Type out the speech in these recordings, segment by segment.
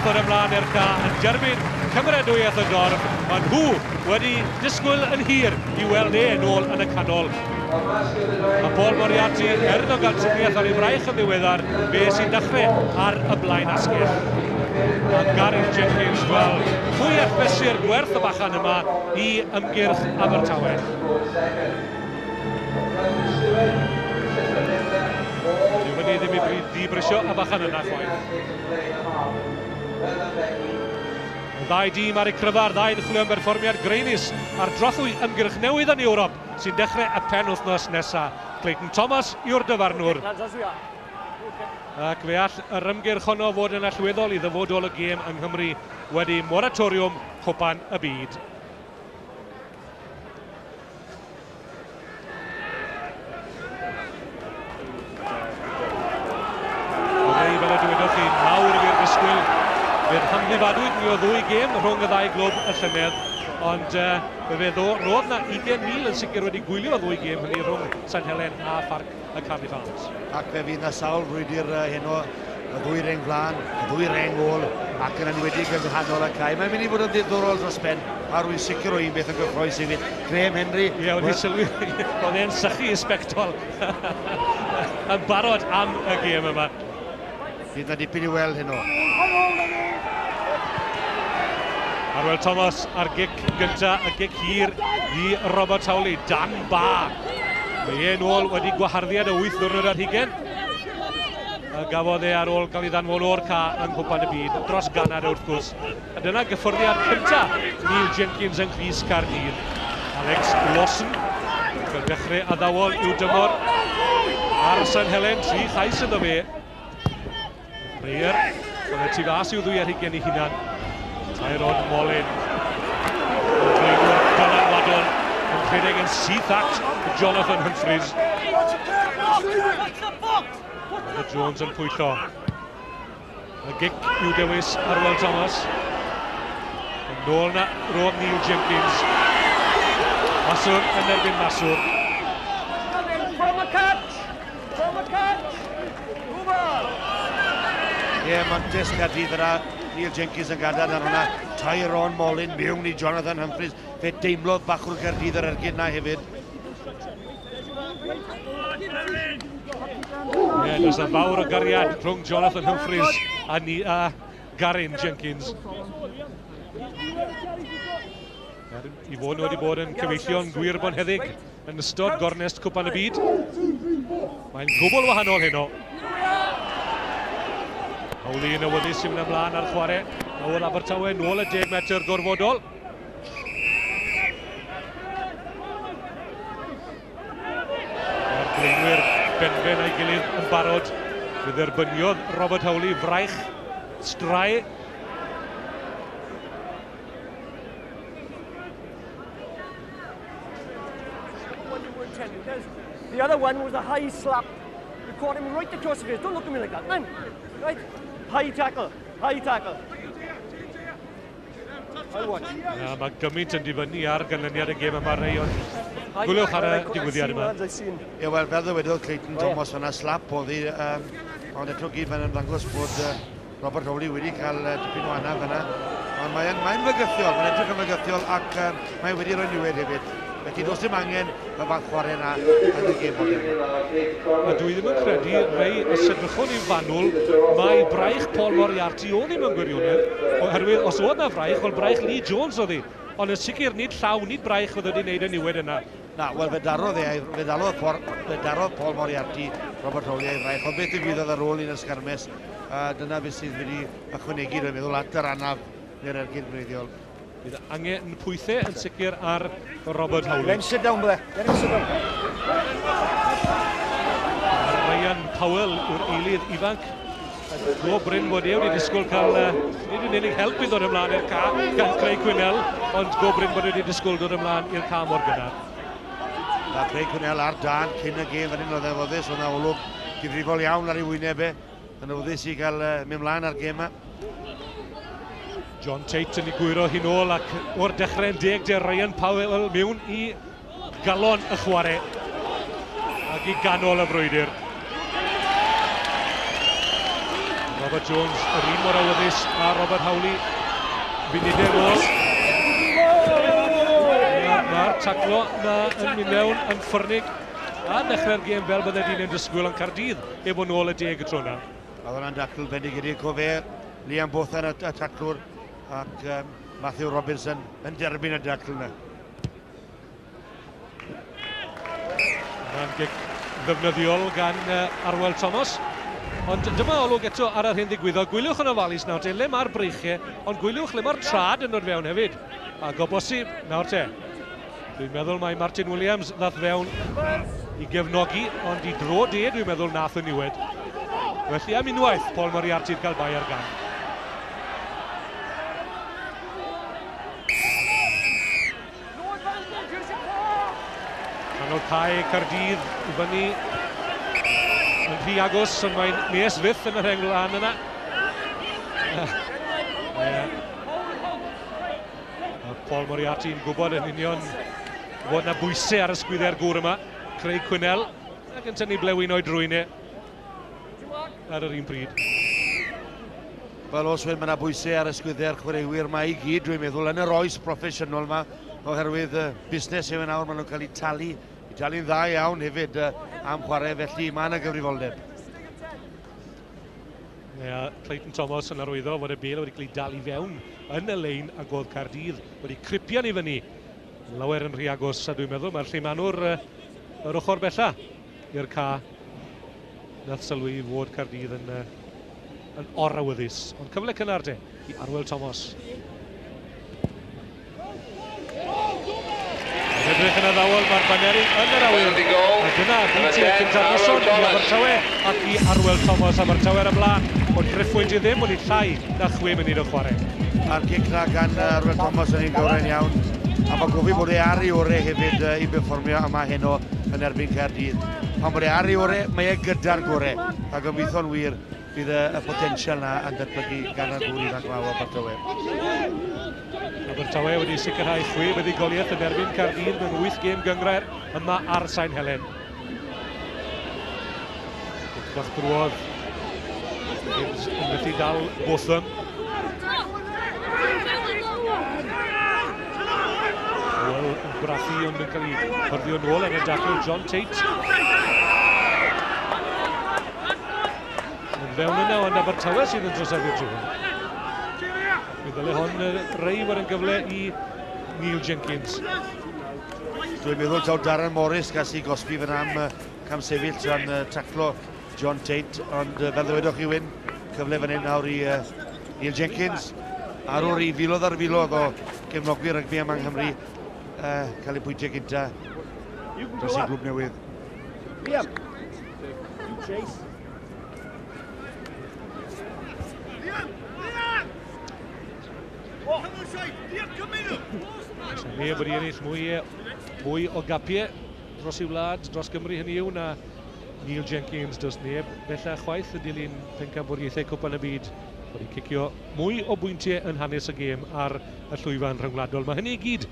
ddod ymlaen i'r ca yn derbyn cymeradwyaeth y dorf. Mae nhw wedi disgwyl yn hir i weld e nôl yn y canol. Mae Paul Moriarty, er iddo gael triniaeth ar ei fraich yn ddiweddar, fe sy'n dechrau ar y blaen asgell. A Gareth Jenkins, wel, pwy all fesur gwerth y bachan yma i ymgyrch Abertawe? Dyw hynny ddim i ddibrisio y bachan yna chwaith. Y ddau dîm ar eu cryfa'r ddau yn chwilio am berfformiad graenus ar drothwy ymgyrch newydd yn Ewrop sy'n dechrau y penwythnos nesaf. Clayton Thomas yw'r dyfarnwr. Ac fe all yr ymgyrch honno fod yn allweddol i ddyfodol y gêm yng Nghymru wedi moratoriwm Cwpan y Byd. Rei, fel y dywedoch chi, mawr i'r disgwyl. Fe'r hamddifadwyd ni o ddwy gêm rhwng y ddau glwb y llynedd, ond fe roedd na 20,000 yn sicr wedi gwylio ddwy gêm hynny rhwng St Helen a Pharc y Cardiff Arms. Ac fe fydd na sawl frwydr heno, y ddwy reng flaen, y ddwy reng ôl, ac yn enwedig yng nghanol y cae. Mae'n mynd i fod yn ddiddorol dros ben, a rwy'n sicr o un beth yn gyffrous hefyd. Graham Henry. Ie, wedi sylwi, oedd e'n sychu i sbectol yn barod am y gêm yma. Fydd na dipyn i weld heno. Arwel Thomas ar gic gynta, y gic hir i Robert Howley, dan ba. Mae e'n ôl wedi gwaharddiad y 8 ddiwrnod ar hugain. A gafodd e ar ôl gael ei ddanfon o'r ca yng Nghwpan y Byd, dros Ganada wrth gwrs. A dyna gyffyrddiad cynta Neil Jenkins yng Nghrys Caerdydd. Alex Lawson, fel dechrau addawol i'w dymor ar St Helen, 3 chais iddo fe. Breyer, oedd e tu fas i'w ddwy ar hugain ei hunan. Tyrone Molin, y blaenwr dylanwadol, yn rhedeg yn syth at Jonathan Humphreys. Robert Jones yn pwyllo. Y gic i'w dewis Arwel Thomas. Yn nôl na roedd Neil Jenkins. Maswr yn erbyn Maswr. From a catch! From a catch! Move on! Ie, mantais Caerdydd yna. Neil Jenkins yn gadael ar hwnna. Tyrone Molin mewn i Jonathan Humphreys. Fe deimlodd bachwr Caerdydd yr ergyd na hefyd. Ie, does na fawr o gariad rhwng Jonathan Humphreys a, ni, a Garin Jenkins. I fod nhw wedi bod yn cyfeillion gwir bonheddig yn ystod gornest Cwpan y Byd. Mae'n gwbl wahanol heno. Howley yn awyddus i fynd ymlaen ar chwarae. Nawr Abertawe nôl y 10 metr gorfodol. Mae'r blaenwyr benben a'i gilydd yn barod. Fe dderbyniodd Robert Howley fraich strae. The other one was a high slap. You caught him right across the face. Don't look at me like that, man. Right? High tackle. High tackle. Na, mae gymaint yn dibynnu ar ganlyniad y gêm yma, Ray, ond gwyliwch ar y digwyddiad yma. Ie, wel, fel ddywedodd Clayton Thomas fan'na, slap oedd hi, ond eto gyd mae'n ymddangos bod Robert Howley wedi cael dipyn o anaf fan'na. Ond mae'n mae fygythiol, mae'n edrych yn fygythiol ac mae wedi rhoi niwed hefyd. Felly does dim angen y fath chwarae yna yn y gêm modern. A dwi ddim yn credu, Ray, os edrychwn i'n fanwl, mae braich Paul Moriarty oedd hi mewn gwirionedd, oherwydd os oedd na fraich, wel braich Lee Jones oedd hi. Ond yn sicr nid llaw, nid braich oedd wedi wneud y niwed yna. Na, wel fe darodd e, fe darodd Paul Moriarty Robert Howley a'i fraich, ond beth ddigwyddodd ar ôl un ysgarmes, dyna beth sydd wedi ychwanegu, dwi'n meddwl, at yr anaf neu'r ergyd gwreiddiol. Bydd angen pwythau yn sicr ar Robert Howley. Let him sit down, brother. Let him sit down. Ryan Powell yw'r eilydd ifanc. Go brin bod e wedi disgwyl cael, nid yn unig help i ddod ymlaen i'r ca gan Craig Quinnell, ond go brin bod e wedi disgwyl dod ymlaen i'r ca mor gynnar. Mae Craig Quinnell ar dan cyn y gêm fan hyn, oedd e'n foddus, oedd yna olwg difrifol iawn ar ei wyneb e. Yn awyddus i gael mynd mlaen ar gêm yma. John Tate yn ei gwyro hi'n ôl ac o'r dechrau'n deg de Ryan Powell mewn i galon y chwarae ac i ganol y frwydr. Robert Jones, yr un mor awyddus a Robert Howley. Funudau nôl. Mae'r taclo na yn mynd mewn yn ffyrnig a dechrau'r gêm fel bydde di'n ein disgwyl yn Caerdydd efo nôl y deg y tro na. Oedd hwnna'n dacl bendigedig o fe, Liam Bothan y taclwr ac Matthew Robinson yn derbyn y dacl yna. Mae'n gic ddefnyddiol gan Arwel Thomas. Ond dyma olwg eto ar yr hyn ddigwyddodd. Gwyliwch yn ofalus nawr te, le mae'r breichiau, ond gwyliwch le mae'r trad yn dod fewn hefyd. Ac o bosib, nawr te, dwi'n meddwl mai Martin Williams ddath fewn i gefnogi, ond i dro de, dwi'n meddwl nath y niwed. Felly am unwaith, Paul Moriarty'n cael bai ar gan. Canol cae Caerdydd i fyny yn rhy agos, ond mae'n nes fyth yn yr rheng lan yna. Paul Moriarty'n gwybod yn union fod yna bwysau ar ysgwyddau'r gŵr yma, Craig Quinnell, ac yn tynnu blewyn o'i drwyn e ar yr un pryd. Wel, os mae yna bwysau ar ysgwyddau'r chwaraewyr yma i gyd, dwi'n meddwl, yn yr oes proffesiynol yma, oherwydd busnes yw yn awr, maen nhw'n cael eu talu, i talu'n dda iawn hefyd am chwarae, felly mae yna gyfrifoldeb. Yeah, Clayton Thomas yn arwyddo fod y bêl wedi cael ei dal i fewn yn y lein ac oedd Caerdydd wedi cripian i fyny. Lawer yn rhy agos, a dwi'n meddwl mae'r lleimanwr yr ochr bella i'r ca nath sylwi fod Caerdydd yn orawyddus. Ond cyfle cynnar te i Arwel Thomas. Yn edrych yn addawol, mae'r baneri yn yr awyr. A dyna bwyntio cyntaf noson i Abertawe ac i Arwel Thomas. Abertawe ar y blaen, ond driffwynt i ddim, wedi llai na 6 munud o chwarae. A'r gic na gan Arwel Thomas yn un gywrain iawn. A mae gofyn bod e ar ei orau hefyd i berfformio yma heno yn erbyn Caerdydd. Pan bod e ar ei orau, mae e gyda'r gorau. A gobeithio'n wir bydd y potensial na yn datblygu gan y gŵr ifanc yma o Abertawe. Abertawe wedi sicrhau 6 buddugoliaeth yn erbyn Caerdydd mewn 8 gêm gynghrair yma ar Sain Helen. Gic bach drwodd. Gibbs yn methu dal Botham. Wel, yn brathu ond yn cael ei hyrddio nôl yn y dacl John Tate. Yn fewn yna, ond Abertawe sydd yn troseddu'r tro hwn. Mi ddyle hon rei fod yn gyfle i Neil Jenkins. Dwi'n meddwl taw Darren Morris gas i gosbi fan am camsefyll tra'n taclo John Tate, ond fel ddywedwch chi Wyn, cyfle fan hyn nawr i Neil Jenkins, arwr i filoedd ar filoedd o gefnogwyr rygbi yma yng Nghymru, cael ei pwyntiau gynta dros ei glwb newydd. Liam, you chase. Neb wedi ennill mwy o gapiau dros ei wlad, dros Gymru hynny yw, na Neil Jenkins. Does neb bellach chwaith yn dilyn pencampwriaethau Cwpan y Byd wedi cicio mwy o bwyntiau yn hanes y gêm ar y llwyfan rhyngwladol. Mae hynny i gyd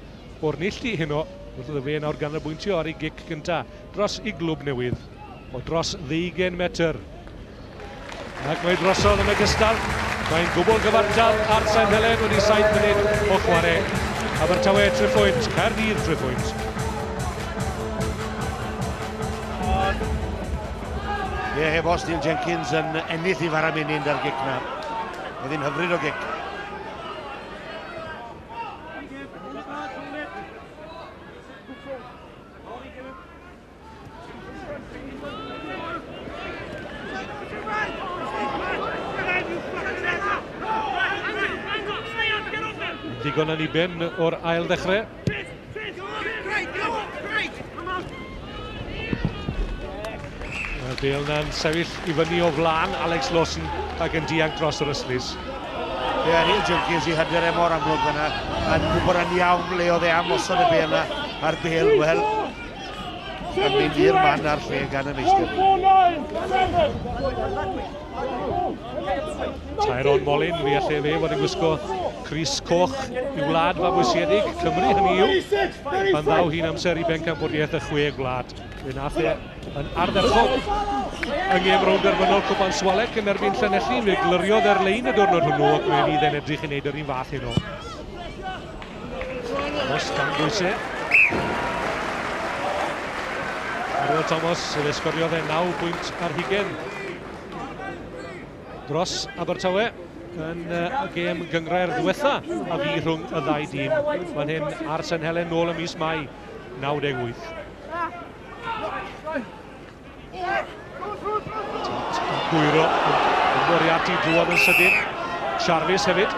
o'r neilltu heno, wrth iddo fe nawr ganolbwyntio ar ei gic gynta dros ei glwb newydd o dros 20 metr. Ac mae drosodd yn ogystal. Mae'n gwbl gyfartal ar Sain Helen wedi 7 munud o chwarae. Abertawe 3 pwynt, Caerdydd 3 pwynt. Ie, heb os Neil Jenkins yn ennill i fara menyn ar gic na. Oedd hi'n hyfryd o gic. Digon yn ei ben o'r ail ddechrau. Mae'r bêl na'n sefyll i fyny o flaen Alex Lawson ac yn dianc dros yr ystlys. Ie, Neil Jenkins i hyder e mor amlwg fyna. Yn gwybod yn iawn le oedd e am osod y bêl na. A'r bêl, wel, yn mynd i'r man a'r lle gan y meistr. Tyrone Molin, fi alle fe fod yn gwisgo crys coch i wlad fabwysiedig, Cymru hynny yw, pan ddaw hi'n amser i bencampwriaeth y 6 gwlad. Fe nath e yn ardderchog. yng ngêm rownd derfynol Cwpan Swalec yn erbyn Llanelli. Fe glyriodd ar lein y diwrnod hwnnw ac fe fydd e'n edrych i wneud yr un fath heno. Thomas dan bwysau. Arwel Thomas, fe sgoriodd e 9 pwynt ar hugen dros Abertawe yn y gêm gynghrair ddiwetha a fu rhwng y ddau dîm. Fan hyn ar St Helen nôl ym mis Mai 98. Gwyro yn Moriarty drwodd yn sydyn. Jarvis hefyd.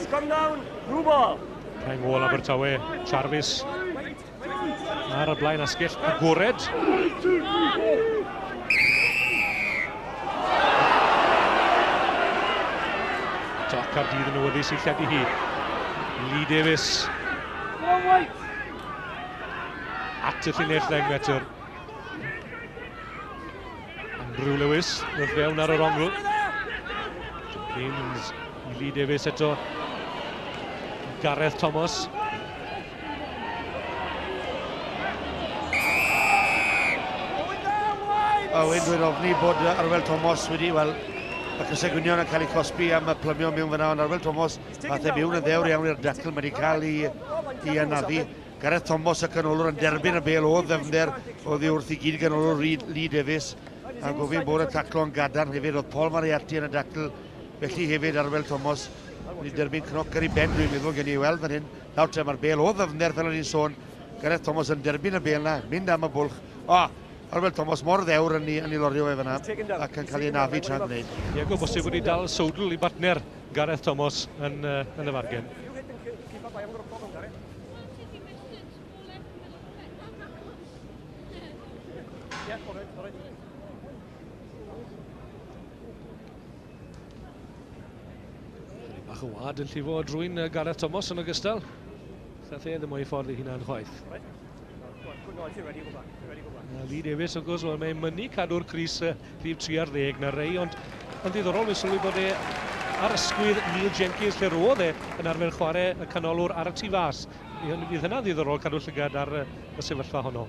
Scrum down, blue ball. Rheng ôl Abertawe, Jarvis ar y blaen asgell agored. To Caerdydd yn awyddus i lledu hi. Lee Davies. At y llinell 10 metr. Andrew Lewis wrth fewn ar yr ongl. Jenkins i Lee Davies eto. Gareth Thomas. Owen, dwi'n ofni bod Arwel Thomas wedi, wel, y crysau gwynion yn cael ei cosbi am y plymio mewn fyna, ond Arwel Thomas, fath e mewn yn ddewr iawn i'r dacl, mae wedi cael ei anafu. Gareth Thomas y canolwr yn derbyn y bêl o ddyfnder oddi wrth i gyd ganolwr Lee Davies, a gofyn bod y taclo yn gadarn hefyd. Oedd Paul Moriarty yn y dacl, felly hefyd Arwel Thomas wedi derbyn cnoc ar ei ben, dwi'n meddwl, gen i weld fan hyn. Nawr te, mae'r bêl o ddyfnder, fel o'n i'n sôn, Gareth Thomas yn derbyn y bêl na, mynd am y bwlch. O, Arwel Thomas mor ddewr yn ei lorio fe fyna ac yn cael ei anafu tra'n gwneud. Ie, go bosib wedi dal sowdl i bartner Gareth Thomas yn y fargen. Bach o wad yn llifo drwy'n Gareth Thomas yn ogystal. Nath e ddim o'i ffordd ei hunan chwaith. Lee Davies, wrth gwrs, wel, mae'n mynnu cadw'r crys rhif 3 ar 10 na rei, ond yn ddiddorol, mae'n sylwi bod e ar ysgwydd Neil Jenkins, lle roedd e yn arfer chwarae y canolwr ar y tu fas. Fydd hynna'n ddiddorol cadw llygad ar y sefyllfa honno.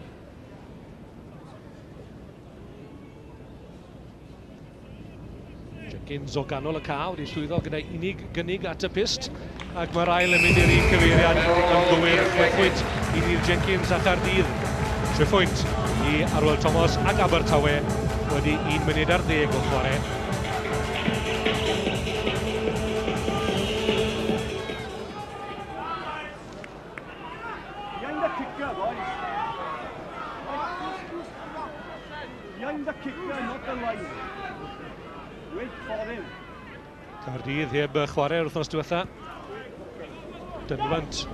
Jenkins o ganol y cae wedi llwyddo gyda unig gynnig at y pyst, ac mae'r ail yn mynd i'r un cyfeiriad yn gywir. 6 pwynt i Neil Jenkins a Chaerdydd, 3 pwynt i Arwel Thomas ac Abertawe wedi 1 munud ar 10 o chwarae. Behind the kicker, boys. Behind the kicker, not the line. Wait for him. Caerdydd heb chwarae'r wythnos diwetha. Dynfant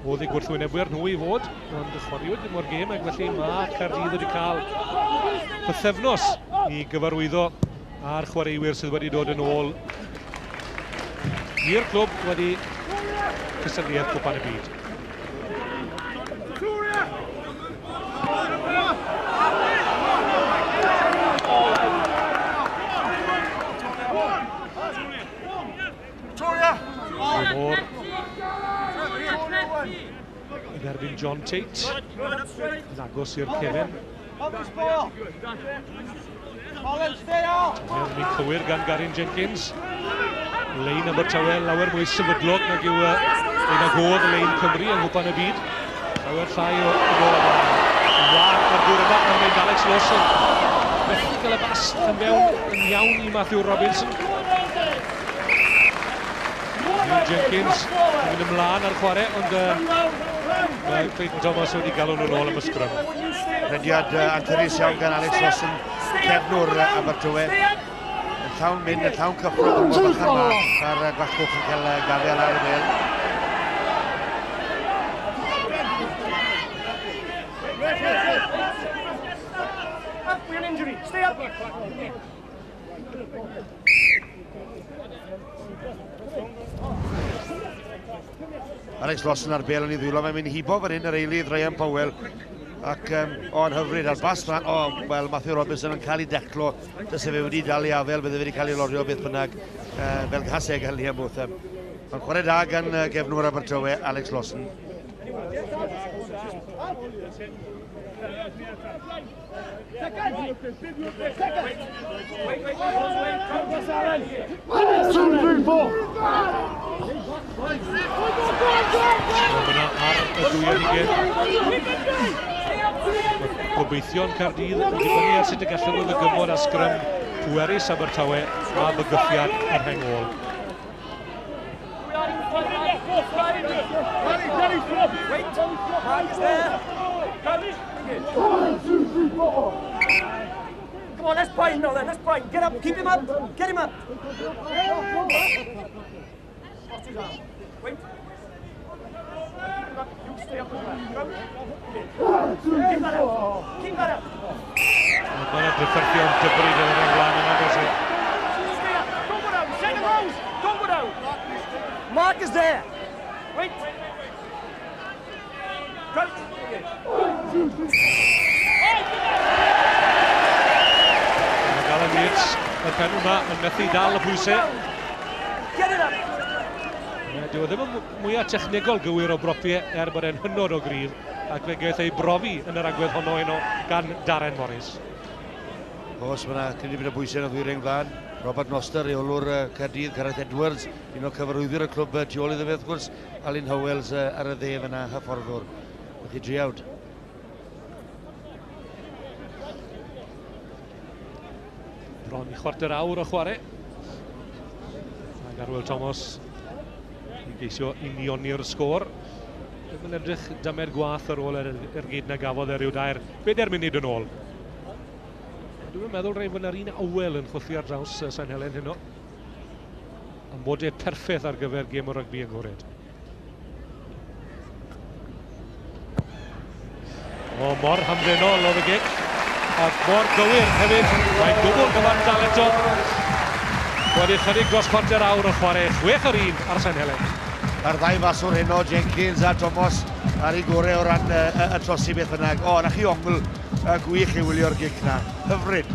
oedd eu gwrthwynebwyr nhw i fod, ond chwaraewyd ddim o'r gêm, ac felly mae Caerdydd wedi cael pythefnos i gyfarwyddo a'r chwaraewyr sydd wedi dod yn ôl i'r clwb wedi cystadleuaeth Cwpan y Byd. Moore yn erbyn John Tate, yn agos i'r cefen. Mewn cywir gan Garin Jenkins. Lein Abertawe lawer mwy sefydlog nag yw ein agodd lein Cymru yng Nghwpan y Byd. Lawer llai o ôl ymlaen. Wan ar gŵr yma yn mynd Alex Lawson. Methu gael y bas yn fewn yn iawn i Matthew Robinson. Neil Jenkins yn mynd ymlaen ar chwarae, ond mae Clayton Thomas wedi galw nhw'n ôl am y sgrym. Rediad anturus iawn gan Alex Lawson, cefnwr Abertawe. Yn llawn mynd, yn llawn cyffro pan mor bychan ma, a'r gwallgoch yn cael gafael ar y bêl. Up with an injury, stay up! Alex Lawson ar bêl yn ei ddwylo, mae'n mynd hibo fan hyn yr eilydd Ryan Powell, ac o'n hyfryd ar bas fan, wel, Matthew Robinson yn cael ei declo, dyse fe wedi dal ei afel, bydde fe wedi cael ei lorio beth bynnag, fel gaseg gan Liam Botham. Mae'n chwarae da gan gefnwr Abertawe, Alex Lawson. Yna ar y dwy ar hugain. Gobeithio'n Caerdydd yn dibynnu ar sut y gallen nhw ddygymod â sgrym pwerus Abertawe a bygythiad yr rheng ôl. Come on, let's bind now then, let's bind. Get up, keep him up, get him up. Wait. You stay up as well. Keep that up. Keep that up. Mae yna drafferthion dybryd yn yr ymlaen yna, does e? Stay up. Don't go down. Second rows. Don't go down. Mark is there. Wait. Crouch. Mae Alan Yates, y pen yma, yn methu dal y pwysau. Get it up. Dyw e ddim yn mwyaf technegol gywir o bropiau er bod e'n hynod o gryf, ac fe gaeth ei brofi yn yr agwedd honno heno gan Darren Morris. Oes, mae yna cynnig bod y bwysau yn y ddwy reng flaen. Robert Noster, reolwr Caerdydd, Gareth Edwards, un o cyfarwyddwyr y clwb tu ôl iddo fe, wrth gwrs, Alun Howells ar y dde fyna, hyfforddwr. Felly driawd. Bron i chwarter awr o chwarae. Ac Arwel Thomas i geisio unioni'r sgôr. Ddim yn edrych dymed gwaith ar ôl yr ergyd na gafodd e ryw 4 munud yn ôl. Dwi'n meddwl rhaid fod yna'r un awel yn chwythu ar draws Sain Helen heno. Amodau perffaith ar gyfer gêm o rygbi agored. O, mor hamddenol oedd y gic. Ac mor gywir hefyd. Mae'n dwbl gyfartal eto. Wedi chydig dros chwarter awr o chwarae, 6-1 ar Sain Helen. A'r ddau faswr heno, Jenkins a Thomas, ar ei gorau o ran y trosi beth bynnag. O, na chi ongl gwych i wylio'r gic na. Hyfryd.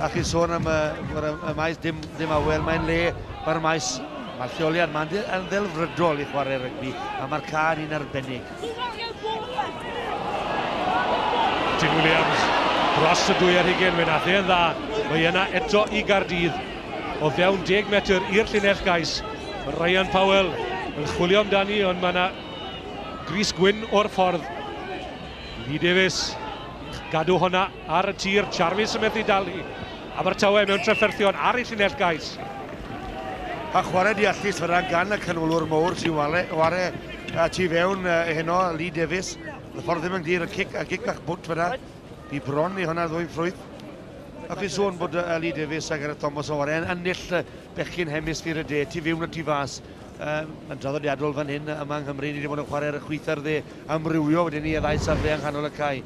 A chi'n sôn am y maes dim awel, mae'n le, mae'r maes, mae'r lleoliad, mae'n yn ddelfrydol i chwarae rygbi, a mae'r ca'n un arbennig. Tim Williams dros y 22, fe nath e'n dda. Mae yna eto i Gaerdydd. O fewn 10 metr i'r llinell gais. Ryan Powell yn chwilio amdani, ond mae yna gris gwyn o'r ffordd. Lee Davies gadw honna ar y tir. Jarvis yn methu dal hi. Abertawe mewn trafferthion ar ei llinell gais. A chwarae deallus fyna gan y canolwr mowr sy'n ware tu fewn heno, Lee Davies. Y ffordd ddim yn glir, y cic bach bwt fyna. Bu bron i hwnna ddwy ffrwyth. A chi sôn bod Lee Davies a Gareth Thomas o ware yn ennill bechgyn hemisffer y de, tu fewn a tu fas. Yn draddodiadol fan hyn yma yng Nghymru, ni wedi bod yn chwarae ar y chwith a'r dde, amrywio wedyn ni y ddau safle yng nghanol y cae.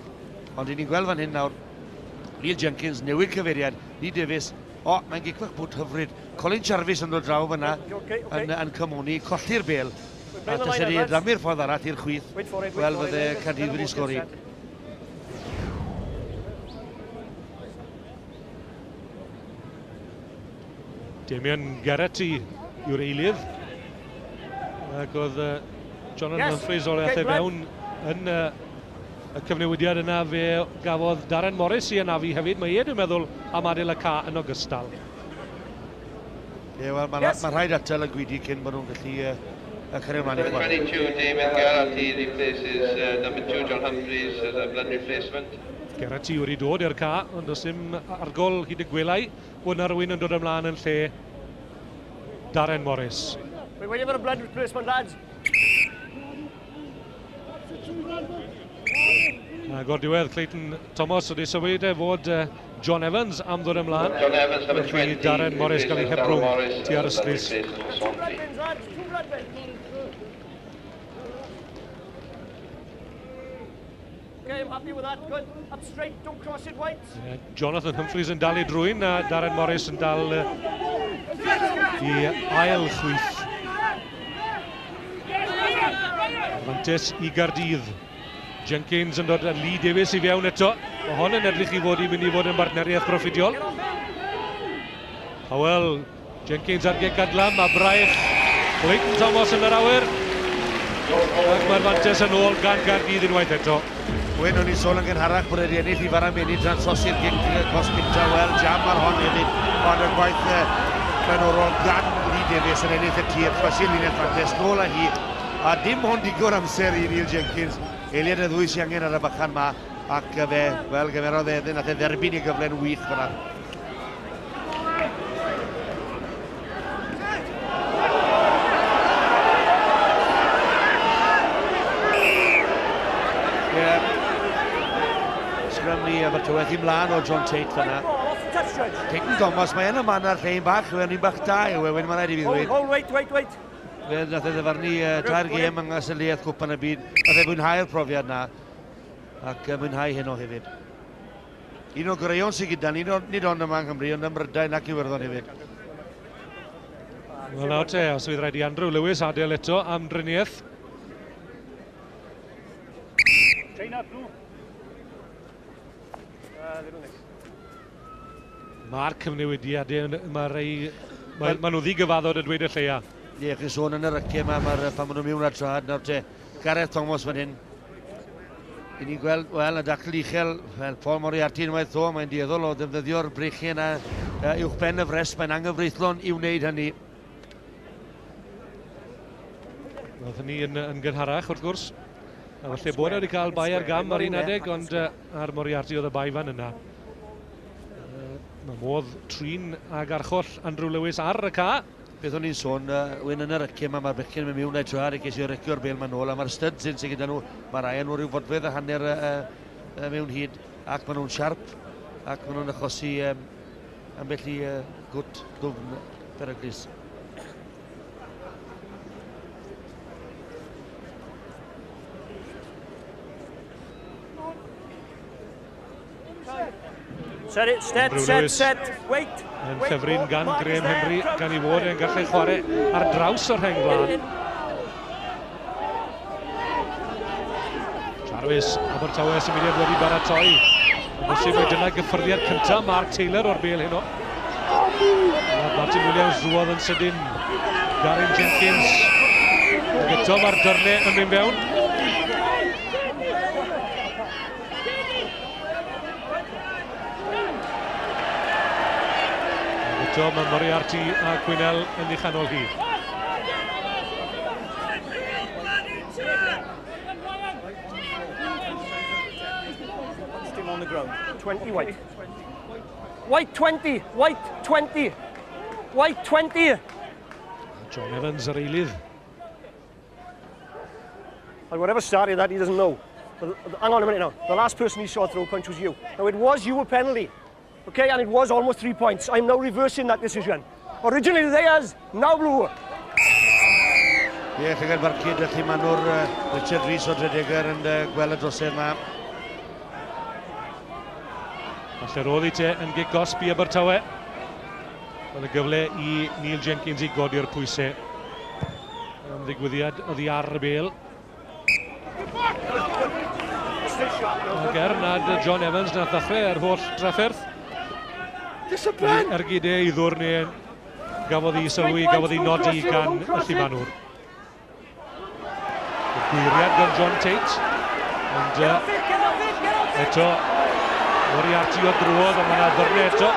Ond ni'n gweld fan hyn nawr, Neil Jenkins newid cyfeiriad, Lee Davies, o, mae'n gic fach bwt hyfryd. Colin Jarvis yn dod draw fyna, yn cymoni, colli'r bel. A tase ni dramu'r ffordd arall i'r chwith, wel fydde Caerdydd wedi sgori. Damien Geraghty yw'r eilydd. Ac oedd Jonathan Humphreys o'r aeth e fewn yn y cyfnewidiad yna, fe gafodd Darren Morris i anafu hefyd. Mae e, dwi'n meddwl, am adael y ca yn ogystal. Ie, wel, mae rhaid atal y gwidi cyn bod nhw'n gallu cario ymlaen i chwarae. 22, Damien Geraghty replaces number 2, John Humphreys as a blood replacement. Geraghty wedi dod i'r ca, ond does dim argol hyd y gwelai bod yna rhywun yn dod ymlaen yn lle Darren Morris. We're waiting for a blood replacement, lads. Ac o'r diwedd, Clayton Thomas wedi symud e fod John Evans am ddod ymlaen. John Evans, number 20. Darren Morris gael ei hebrwng tua'r ystlys. Two blood bins, lads. Two blood bins. Okay, I'm happy with that. Good. Up straight, don't cross it, white. Jonathan Humphreys yn dal i drwy'n a Darren Morris yn dal i ail chwith. Mantes i Gaerdydd. Jenkins yn dod â Lee Davies i fewn eto. Mae hon yn edrych i fod i mynd i fod yn bartneriaeth broffidiol. Powell, Jenkins ar gic adlam a braich Clayton Thomas yn yr awyr. Ac mae'r fantes yn ôl gan Gaerdydd unwaith eto. Wyn, o'n i'n sôn yn gynharach bod wedi ennill i Farameni tra'n trosi'r gic cosb gynta. Wel, jam ar hon hefyd, ond y gwaith blaenorol gan Lee Davies yn ennill y tir, croesi'r linell fantes, nôl â hi. A dim ond digon amser i Neil Jenkins. Eiliad y ddwy sy'n angen ar y bychan ma, ac fe, wel, gymerodd e, nath e dderbyn i gyfle'n wych fyna. Ie. Sgrym ni Abertawe i mlaen o John Tate fyna. Clayton Thomas, mae yn y man ar llein bach, yw e'n un bach da yw e, wedyn mae'n rhaid i fi ddweud. Hold, wait, wait, wait. Fe nath e ddyfarnu tair gêm yng Nghastell Cwpan y Byd. Nath e fwynhau'r profiad na ac mwynhau heno hefyd. Un o goreuon sydd gyda ni, nid ond yma yng Nghymru, ond ym Mhrydain ac Iwerddon hefyd. Wel nawr te, os fydd rhaid i Andrew Lewis adael eto am driniaeth. China, blue. Little nick. Mae'r cyfnewidiadau, mae rei, mae nhw ddigyfaddod yn dweud y lleia. Ie, chi'n sôn yn yr yce yma, pan maen nhw mewn ar trad, nawr te, Gareth Thomas fan hyn. I ni'n gweld, wel, y dacl uchel, wel, Paul Moriarty unwaith o, mae'n dueddol o ddefnyddio'r breichiau yna uwch ben y fres, mae'n anghyfreithlon i wneud hynny. Roedd hynny yn gynharach, wrth gwrs. A falle bod e wedi cael bai ar gam ar un adeg, ond ar Moriarty oedd y bai fan yna. Mae modd trin ag archoll Andrew Lewis ar y ca. Beth o'n i'n sôn, wyn yn yr yce yma, mae'r bechgyn yn mynd mewn a'i trad i geisio recio'r bêl ma'n ôl, a mae'r studs yn sydd gyda nhw, mae rai nhw rhyw fodfedd a hanner mewn hyd, ac maen nhw'n siarp, ac maen nhw'n achosi ambell i gwt ddwfn peryglus. Set it, set, set, set, wait. Yn ffefryn gan Graham Henry, gan i fod yn gallu chwarae ar draws o'r rheng flaen. Jarvis, Abertawe symudiad wedi baratoi. Bosib mai dyna gyffyrddiad cyntaf Mark Taylor o'r bêl heno. Martin Williams drwodd yn sydyn. Garin Jenkins. Ac eto mae'r dyrnau yn mynd fewn. Eto mae Moriarty a Quinnell yn ei chanol hi. Still on the ground. 20 white. White 20. White 20. White 20. John Evans yr eilydd. And whatever started that, he doesn't know. But hang on a minute now. The last person he saw throw a punch was you. Now it was you a penalty. Okay, and it was almost 3 points. I'm now reversing that decision. Originally theirs, now blue. Ie, llygad barcud, felly maen nhw'r Richard Rees o Dredegar yn gweld y drosedd yma. Falle roedd i te yn gic gosb i Abertawe. Oedd y gyfle i Neil Jenkins i godi'r pwysau. Am ddigwyddiad oddi ar y bêl. Ac er nad John Evans nath ddechrau ar holl drafferth. Ergyd e i ddwr neu gafodd ei sylwi, gafodd ei nodi gan y llumanwr. Y gwyriad gan John Tate. Ond eto, Moriarty o drwodd, ond mae yna ddyrnau eto.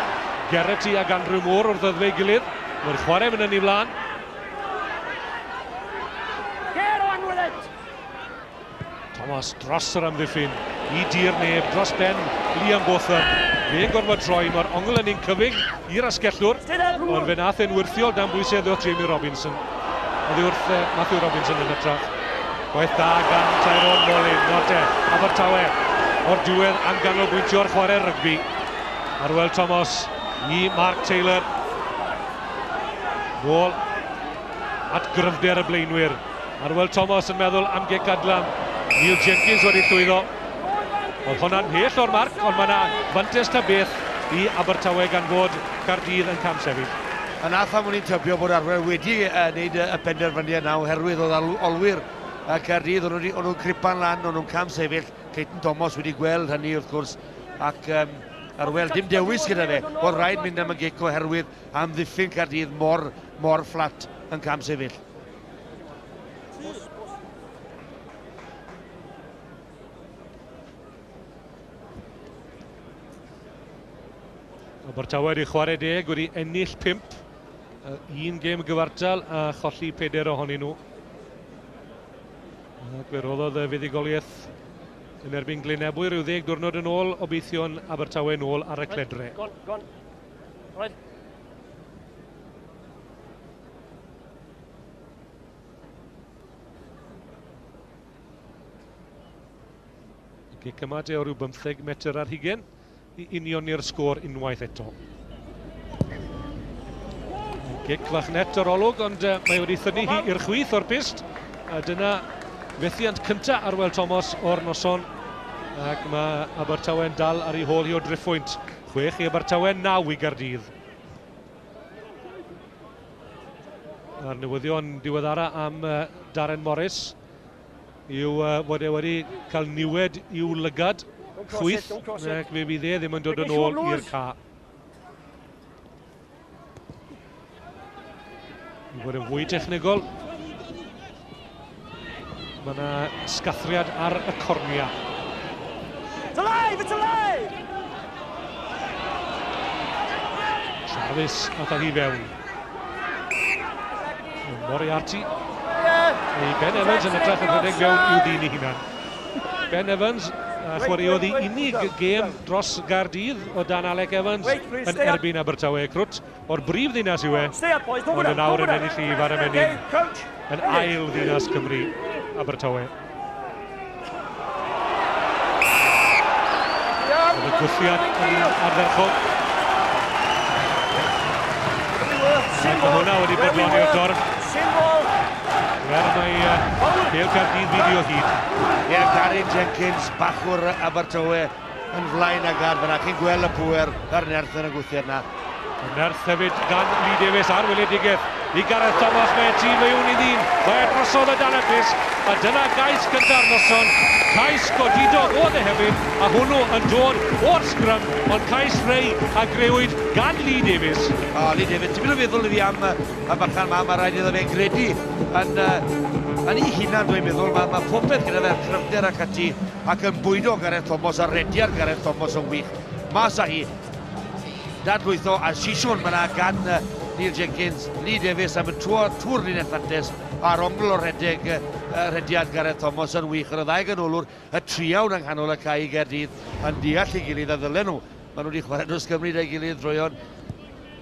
Geraghty ac Andrew Moore wrth ddweud gilydd. Mae'r chwarae mynd yn ei flaen. Thomas dros yr amddiffyn i dir neb, dros ben Liam Botham. Fe'n gorfod troi, mae'r ongl yn un cyfyng i'r asgellwr, ond fe nath e'n wyrthiol dan bwysau oddi wrth Jamie Robinson. Oddi wrth Matthew Robinson yn hytrach. Gwaith da gan Tyrone Molin, nawr te, Abertawe o'r diwedd am ganolbwyntio'r chwarae rygbi. Arwel Thomas i Mark Taylor. Nôl at gryfder y blaenwyr. Arwel Thomas yn meddwl am gic adlam. Neil Jenkins wedi llwyddo. Oedd hwnna'n mhell o'r marc, ond mae yna fantes ta beth i Abertawe gan fod Caerdydd yn cam sefyll. A na pham o'n i'n tybio bod Arwel wedi wneud y penderfyniad na, oherwydd oedd olwyr Caerdydd, o'n nhw'n cripan lan, o'n nhw'n cam sefyll. Clayton Thomas wedi gweld hynny wrth gwrs, ac Arwel dim dewis gyda fe, oedd rhaid mynd am y gic oherwydd amddiffyn Caerdydd mor fflat yn cam sefyll. Abertawe wedi chwarae 10, wedi ennill 5. Un gêm gyfartal a cholli 4 ohonyn nhw. Ac fe roddodd y fuddugoliaeth yn erbyn Glynebwy rhyw 10 diwrnod yn ôl, obeithio'n Abertawe yn ôl ar y cledre. Gone, gone. Right. Gic yma de o ryw 15 metr ar hugen i unioni'r sgôr unwaith eto. Gic fach net o'r olwg, ond mae wedi thynnu hi i'r chwith o'r pyst. A dyna fethiant cyntaf Arwel Thomas o'r noson. Ac mae Abertawe'n dal ar ei hôl hi o driphwynt. 6 i Abertawe, 9 i Gaerdydd. A'r newyddion diweddara am Darren Morris yw fod e wedi cael niwed i'w lygad chwith, ac fe fydd e ddim yn dod yn ôl i'r ca. I fod yn fwy technegol, mae yna sgathriad ar y cornia. It's alive! It's alive! Jarvis ath â hi fewn. Moriarty. Ei Ben Evans yn edrych yn rhedeg fewn i'w ddyn ei hunan. Ben Evans chwaraeodd ei unig gêm dros Gaerdydd o dan Alec Evans yn erbyn Abertawe. Crwt o'r brif ddinas yw e, ond yn awr yn ennill i Fara Menyn yn ail ddinas Cymru, Abertawe. Oedd y gwthiad yn ardderchog. Ac mae hwnna wedi bodloni'r dorf. Er mae Pêl Caerdydd fideo hyd. Ie, Gary Jenkins, bachwr Abertawe yn flaen ag ar fyna. Chi'n gweld y pŵer a'r nerth yn y gwthiad na. Y nerth hefyd gan Lee Davies ar weledigaeth i Gareth Thomas. Mae tîm fewn i ddyn. Mae drosodd y dan y pys. A dyna gais gynta'r noson. Cais godidog oedd e hefyd, a hwnnw yn dod o'r sgrym, ond cais rei a grëwyd gan Lee Davies. O, Lee Davies, ti'n mynd o feddwl i fi am y bachan ma, mae rhaid iddo fe gredu yn ei hunan, dwi'n meddwl. Mae popeth gyda fe'r cryfder ac ati, ac yn bwydo Gareth Thomas, a rediad Gareth Thomas yn wych. Mas â hi, dadlwytho, a sisiwn mae'na gan Neil Jenkins, Lee Davies am y tŵr linell fantes, a'r ongl o redeg rediad Gareth Thomas yn wych. Yr ddau ganolwr, y triawd yng nghanol y cae i Gaerdydd yn deall ei gilydd a ddylen nhw. Maen nhw wedi chwarae dros Gymru da'i gilydd droeon.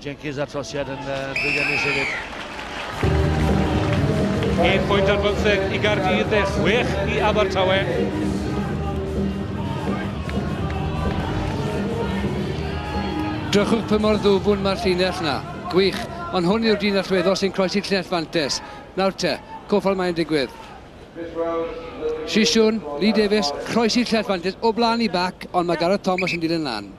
Jenkins a'r trosiad yn llwyddiannus hefyd. 1 pwynt ar 15 i Gaerdydd, 6 i Abertawe. Drychwch pa mor ddwfwn mae'r llinell na. Gwych, ond hwn yw'r dyn allweddol sy'n croesi llinell fantes. Nawr te, cofal mae'n digwydd. Sisiwn, Lee Davies, croesi llinell fantes o blaen i bac, ond mae Gareth Thomas yn dilyn lan.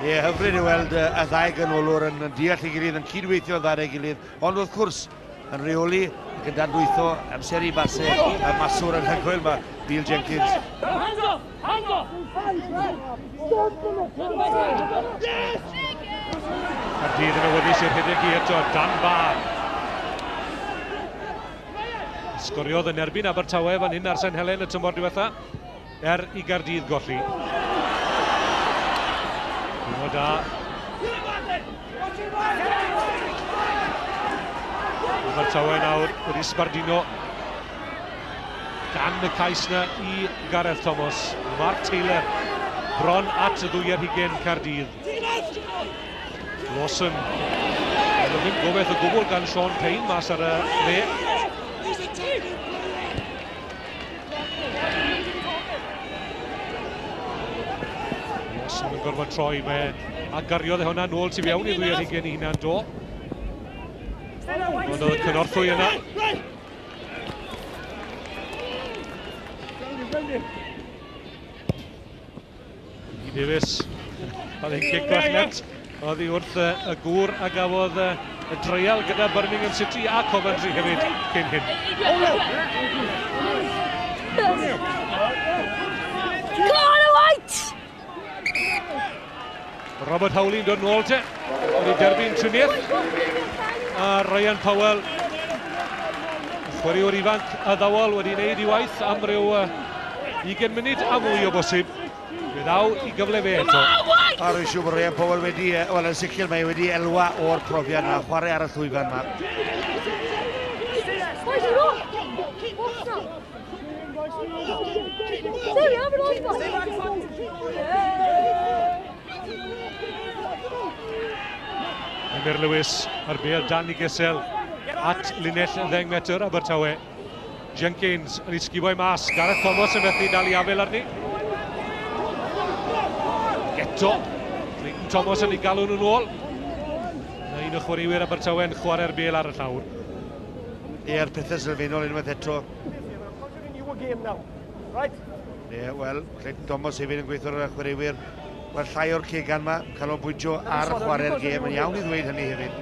Ie, hyfryd i weld y ddau ganolwr yn deall ei gilydd, yn cydweithio ddau ei gilydd, ond wrth gwrs yn rheoli ac yn dadlwytho amser i basau y maswr yn hygoel mae Neil Jenkins. Caerdydd yn awyddus i'r rhedeg i eto, Dan Barr. Sgoriodd yn erbyn Abertawe fan hyn ar Sain Helen y tymor diwetha, er i Gaerdydd golli. Hwnnw da. Abertawe nawr wedi sbardino gan y cais na i Gareth Thomas. Mark Taylor bron at y 22 Caerdydd. Lawson. Ddim gobeith o gwbl gan Sean Payne mas ar y dde. Lawson yn gorfod troi, mae a gariodd e hwnna nôl tu fewn i 22 i hunan do. Ond oedd y cynorthwy yna. Lee Davies, oedd e'n gic bach net, oedd hi wrth y gŵr a gafodd y dreial gyda Birmingham City a Coventry hefyd cyn hyn. Connor White! Robert Howley'n dod nôl te, wedi derbyn triniaeth. A Ryan Powell, Chwaraewr ifanc addawol wedi wneud ei waith am ryw 20 munud a mwy o bosib. Fe ddaw i gyfle fe eto. A rwy'n siŵr bod Ryan Powell wedi, wel yn sicr mae wedi elwa o'r profiad yna, chwarae ar y llwyfan yma. Emyr Lewis a'r bêl dan i gesel at linell 10 metr Abertawe. Jenkins yn ei sguboi mas. Gareth Thomas yn methu dal i afel arni. Eto, Clayton Thomas yn ei galw nhw'n ôl. Na un o chwaraewyr Abertawe yn chwarae'r bêl ar y llawr. Ie'r pethau sylfaenol unwaith eto. Ie, wel, Clayton Thomas hefyd yn gweithio ar y chwaraewyr. Wel, llai o'r cegan yma, canolbwyntio ar chwarae'r gêm, yn iawn i ddweud hynny hefyd.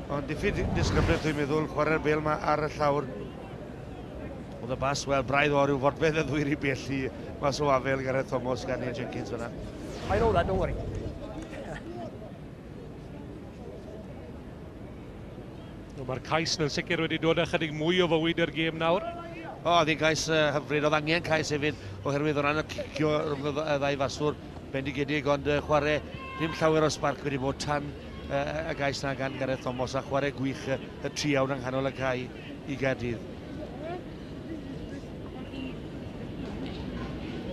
Ond diffyg disgyblaeth dwi'n meddwl, chwarae'r bêl yma ar y llawr. Oedd y bas, wel, braidd o ryw fodfedd y ddwyr i bellu mas o afel Gareth Thomas gan Ian Jenkins fyna. I know that, don't worry. Mae'r cais yn sicr wedi dod â chydig mwy o fywyd i'r gêm nawr. O, oedd hi'n cais hyfryd, oedd angen cais hefyd oherwydd o ran y cicio rhwng y ddau faswr bendigedig, ond chwarae ddim llawer o sbarc wedi bod tan y gais na gan Gareth Thomas a chwarae gwych y triawd yng nghanol y cae i Gaerdydd.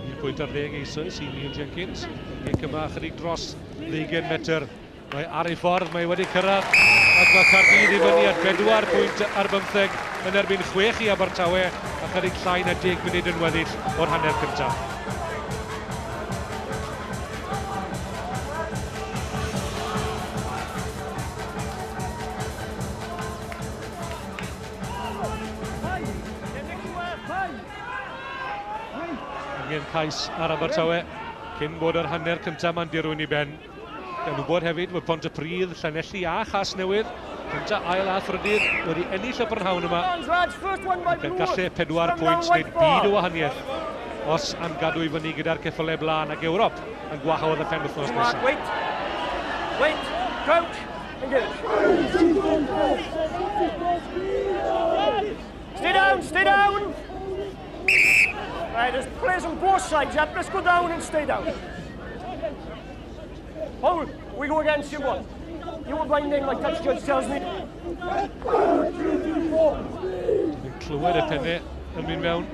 1 pwynt ar 10 eisoes i Neil Jenkins. Gic yma chydig dros 20 metr. Mae ar ei ffordd, mae wedi cyrraedd ac mae Caerdydd i fyny at 4 pwynt ar 15 yn erbyn 6 i Abertawe a chydig llai na 10 munud yn weddill o'r hanner cyntaf. Angen cais ar Abertawe cyn bod yr hanner cyntaf ma'n dirwyn i ben. Gan wybod hefyd fod Pontypridd, Llanelli a Chasnewydd, cyntaf, ail a thrydydd wedi ennill y prynhawn yma. Ac gallu 4 pwynt wneud byd o wahaniaeth os am gadw i fyny gyda'r ceffylau blaen ac Ewrop yn gwahodd y penwythnos nesaf. Wait, wait, crouch, engage. Stay down, stay down. Right, there's players on both sides up. Let's go down and stay down. Hold, we go against you one. You were blinding, my touch judge tells me. Dwi'n clywed y pennau yn mynd mewn.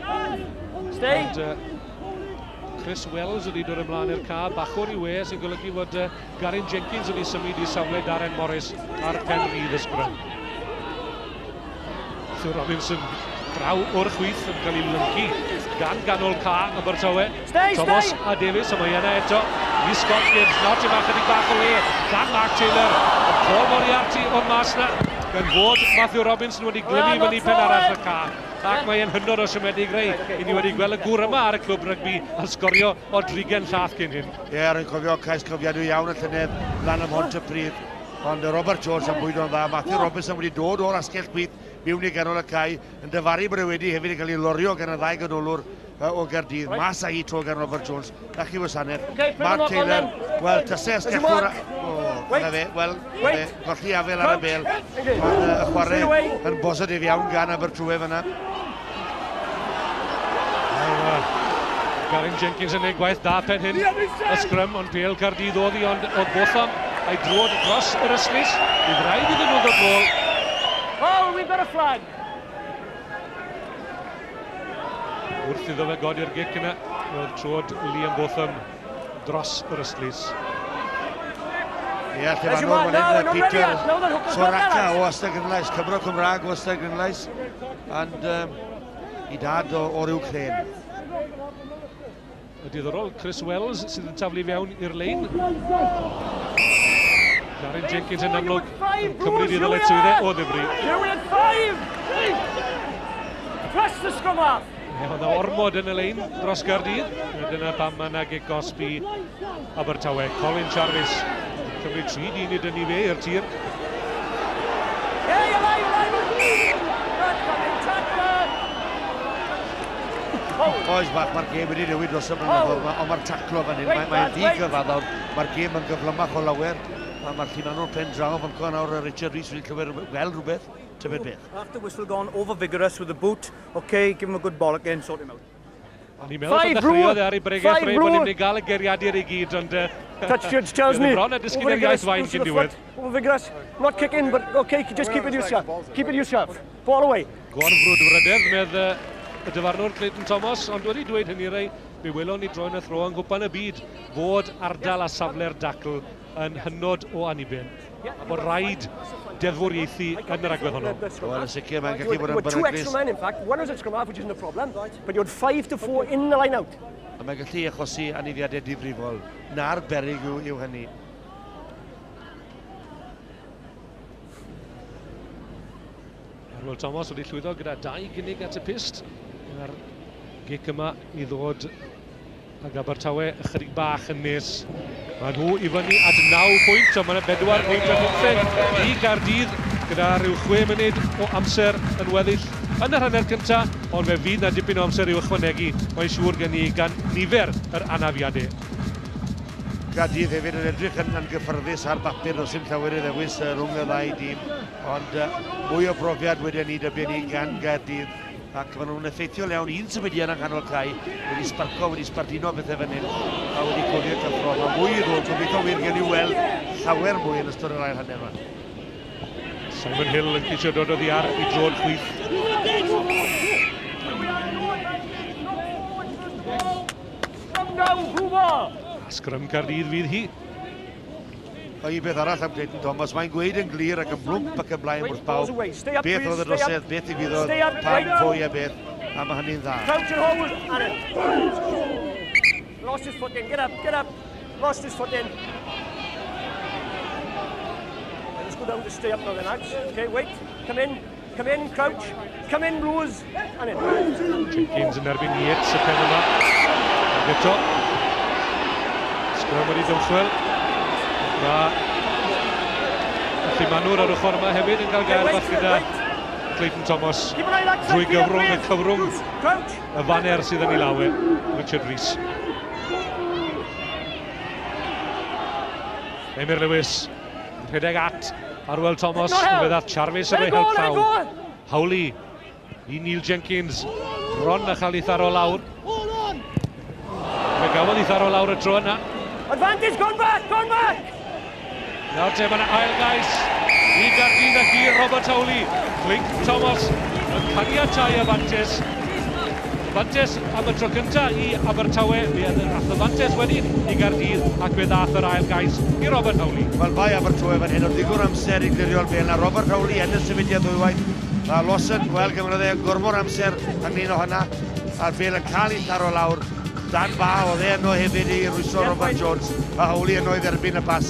Stay. Ond, Chris Wells wedi dod ymlaen i'r ca, bachwr i we, sy'n golygu fod Garin Jenkins wedi symud i safle Darren Morris ar pen rydd y sgrym. Matthew Robinson draw o'r chwith yn cael ei lyncu gan ganol ca Abertawe. Stay, Thomas stay. A Davies, a mae yna eto i Scott Gibbs. Nawr ti'n bach chydig bach o le gan Mark Taylor. Ond Paul Moriarty o'r mas na, gan fod Matthew Robinson wedi glymu fyny pen arall y ca. Ac mae'n hynod o siomedig rei. I ni wedi gweld y gŵr yma ar y clwb rygbi a sgorio o drigen llath cyn hyn. Ie, rwy'n cofio cais cofiadwy iawn y llynedd lan ym Mhontypridd. Ond Robert Jones yn bwydo'n dda. Matthew Robinson wedi dod o'r asgell chwith mewn i ganol y cae, yn dyfaru bod e wedi hefyd yn cael ei lorio gan y ddau ganolwr o Gaerdydd. Mas â hi tro gan Robert Jones. Na chi wasanaeth. Mark Taylor, wel, tasau asgellwr... O, na fe, wel, golli afel ar y bêl. Ond y chwarae yn bositif iawn gan Abertawe fyna. Garin Jenkins yn ei gwaith da pen hyn. Y sgrym, ond bêl Caerdydd oedd hi, ond oedd Botham a'i drod dros yr ystlys. Bydd rhaid iddyn nhw ddod nôl. Oh, we've got a flag. Wrth iddo fe godi'r gic yna, roedd trod Liam Botham dros yr ystlys. Ie, llefanwr fan hyn, Peter Soraka o Ystradgynlais, Cymro Cymraeg o Ystradgynlais, and i dad o'r Ukraine. Y diddorol, Chris Wells sydd yn taflu fewn i'r lein. Garin Jenkins yn amlwg yn cymryd i ddyletswyddau o ddifri. Press the scrum half. Oedd ormod yn y lein dros Gaerdydd. Dyna pam mae yna gic gosb i Abertawe. Colin Jarvis yn cymryd 3 dyn i dynnu fe i'r tir. Oes bach, mae'r gêm wedi newid dros y blynyddoedd, ond mae'r taclo fan hyn, mae'n ddigyfaddawd, mae'r gêm yn gyflymach o lawer, mae'r llumanwr pen draw fan co nawr, Richard Rees wedi clywed gweld rhywbeth. Tybed beth. After whistle gone, over vigorous with the boot. Okay, give him a good bollock in, sort him out. O'n i'n meddwl bod ddechreuodd e ar ei bregeth rei bod ni'n mynd i gael y geiriadur i gyd, ond Touch judge tells me. Bron a disgyn yr iaith fain cyn diwedd. Over vigorous, not kick in, but okay, just keep it yourself. Keep it yourself. Ball away. Gorfrwdfrydedd, medd y dyfarnwr Clayton Thomas, ond wedi dweud hynny rei, mi welon ni droi'n y thro yng Nghwpan y Byd fod ardal a safle'r dacl yn hynod o aniben. A bod rhaid deddfwriaethu yn yr agwedd honno. Wel, yn sicr, mae'n gallu bod yn beryglus. Two extra men, in fact. One was at scrum half, which isn't a problem, but you had 5 to 4 in the line out. A mae'n gallu achosi anafiadau difrifol. Na'r beryg yw hynny. Arwel Thomas wedi llwyddo gyda dau gynnig at y pyst. Mae'r gic yma i ddod ag Abertawe ychydig bach yn nes. Mae nhw i fyny at 9 pwynt, ond mae'n 4 pwynt ar 15 i Gaerdydd gyda rhyw 6 munud o amser yn weddill yn yr hanner cyntaf, ond fe fydd na dipyn o amser i'w ychwanegu, mae'n siŵr gen i gan nifer yr anafiadau. Gaerdydd hefyd yn edrych yn gyffyrddus ar bapur, does dim llawer i ddewis rhwng y ddau dîm, ond mwy o brofiad wedi ni dybio ni gan Gaerdydd, ac maen nhw'n effeithiol iawn. Un symudiad yng nghanol cae, wedi sbarco, wedi sbarduno bethau fan hyn, a wedi codi'r cyffro. Mae mwy i ddod, gobeithio wir gen i weld llawer mwy yn ystod yr ail hanner yma. Simon Hill yn ceisio dod oddi ar i dro'n chwith. Sgrym Caerdydd fydd hi. A un beth arall am Clayton Thomas, mae'n gweud yn glir ac yn blwmp ac yn blaen wrth bawb beth oedd y drosedd, beth ddigwyddodd, pam, pwy a beth, a mae hynny'n dda. Crouch and hold, Aaron. Lost his foot in, get up, get up. Lost his foot in. Let's go down to stay up now then, lads. Okay, wait, come in, come in, crouch, come in, Blues, and in. Jenkins yn erbyn Yates y pen yma. Ac eto, sgrym wedi dymchwel. Mae Llumanwr ar ochr yma hefyd yn cael gair bach gyda Clayton Thomas drwy gyfrwng y cyfrwng y faner sydd yn ei lawe, Richard Rees. Emyr Lewis, rhedeg at Arwel Thomas, yn fe ddath Jarvis yn ei help llaw. Howley i Neil Jenkins, bron a chael ei tharo lawr. Fe gafodd ei tharo lawr y tro yna. Advantage, gone back, gone back! Nawr te, mae'n ail gais i Gaerdydd ac i Robert Howley. Clayton Thomas yn caniatau y fantes. Fantes am y tro cyntaf i Abertawe, fe ath y fantes wedyn i Gaerdydd ac fe ddath yr ail gais i Robert Howley. Wel, bai Abertawe fan hyn, oedd ddigon amser i glirio'r bel, a Robert Howley yn y symudiad ddwywaith. A Lawson, wel, gymrodd e gormod amser ynglyn o hynna, a'r bel yn cael ei tharo lawr. Dan Ba, oedd e yno hefyd i rwystro Robert Jones, a Howley yno i dderbyn y pas.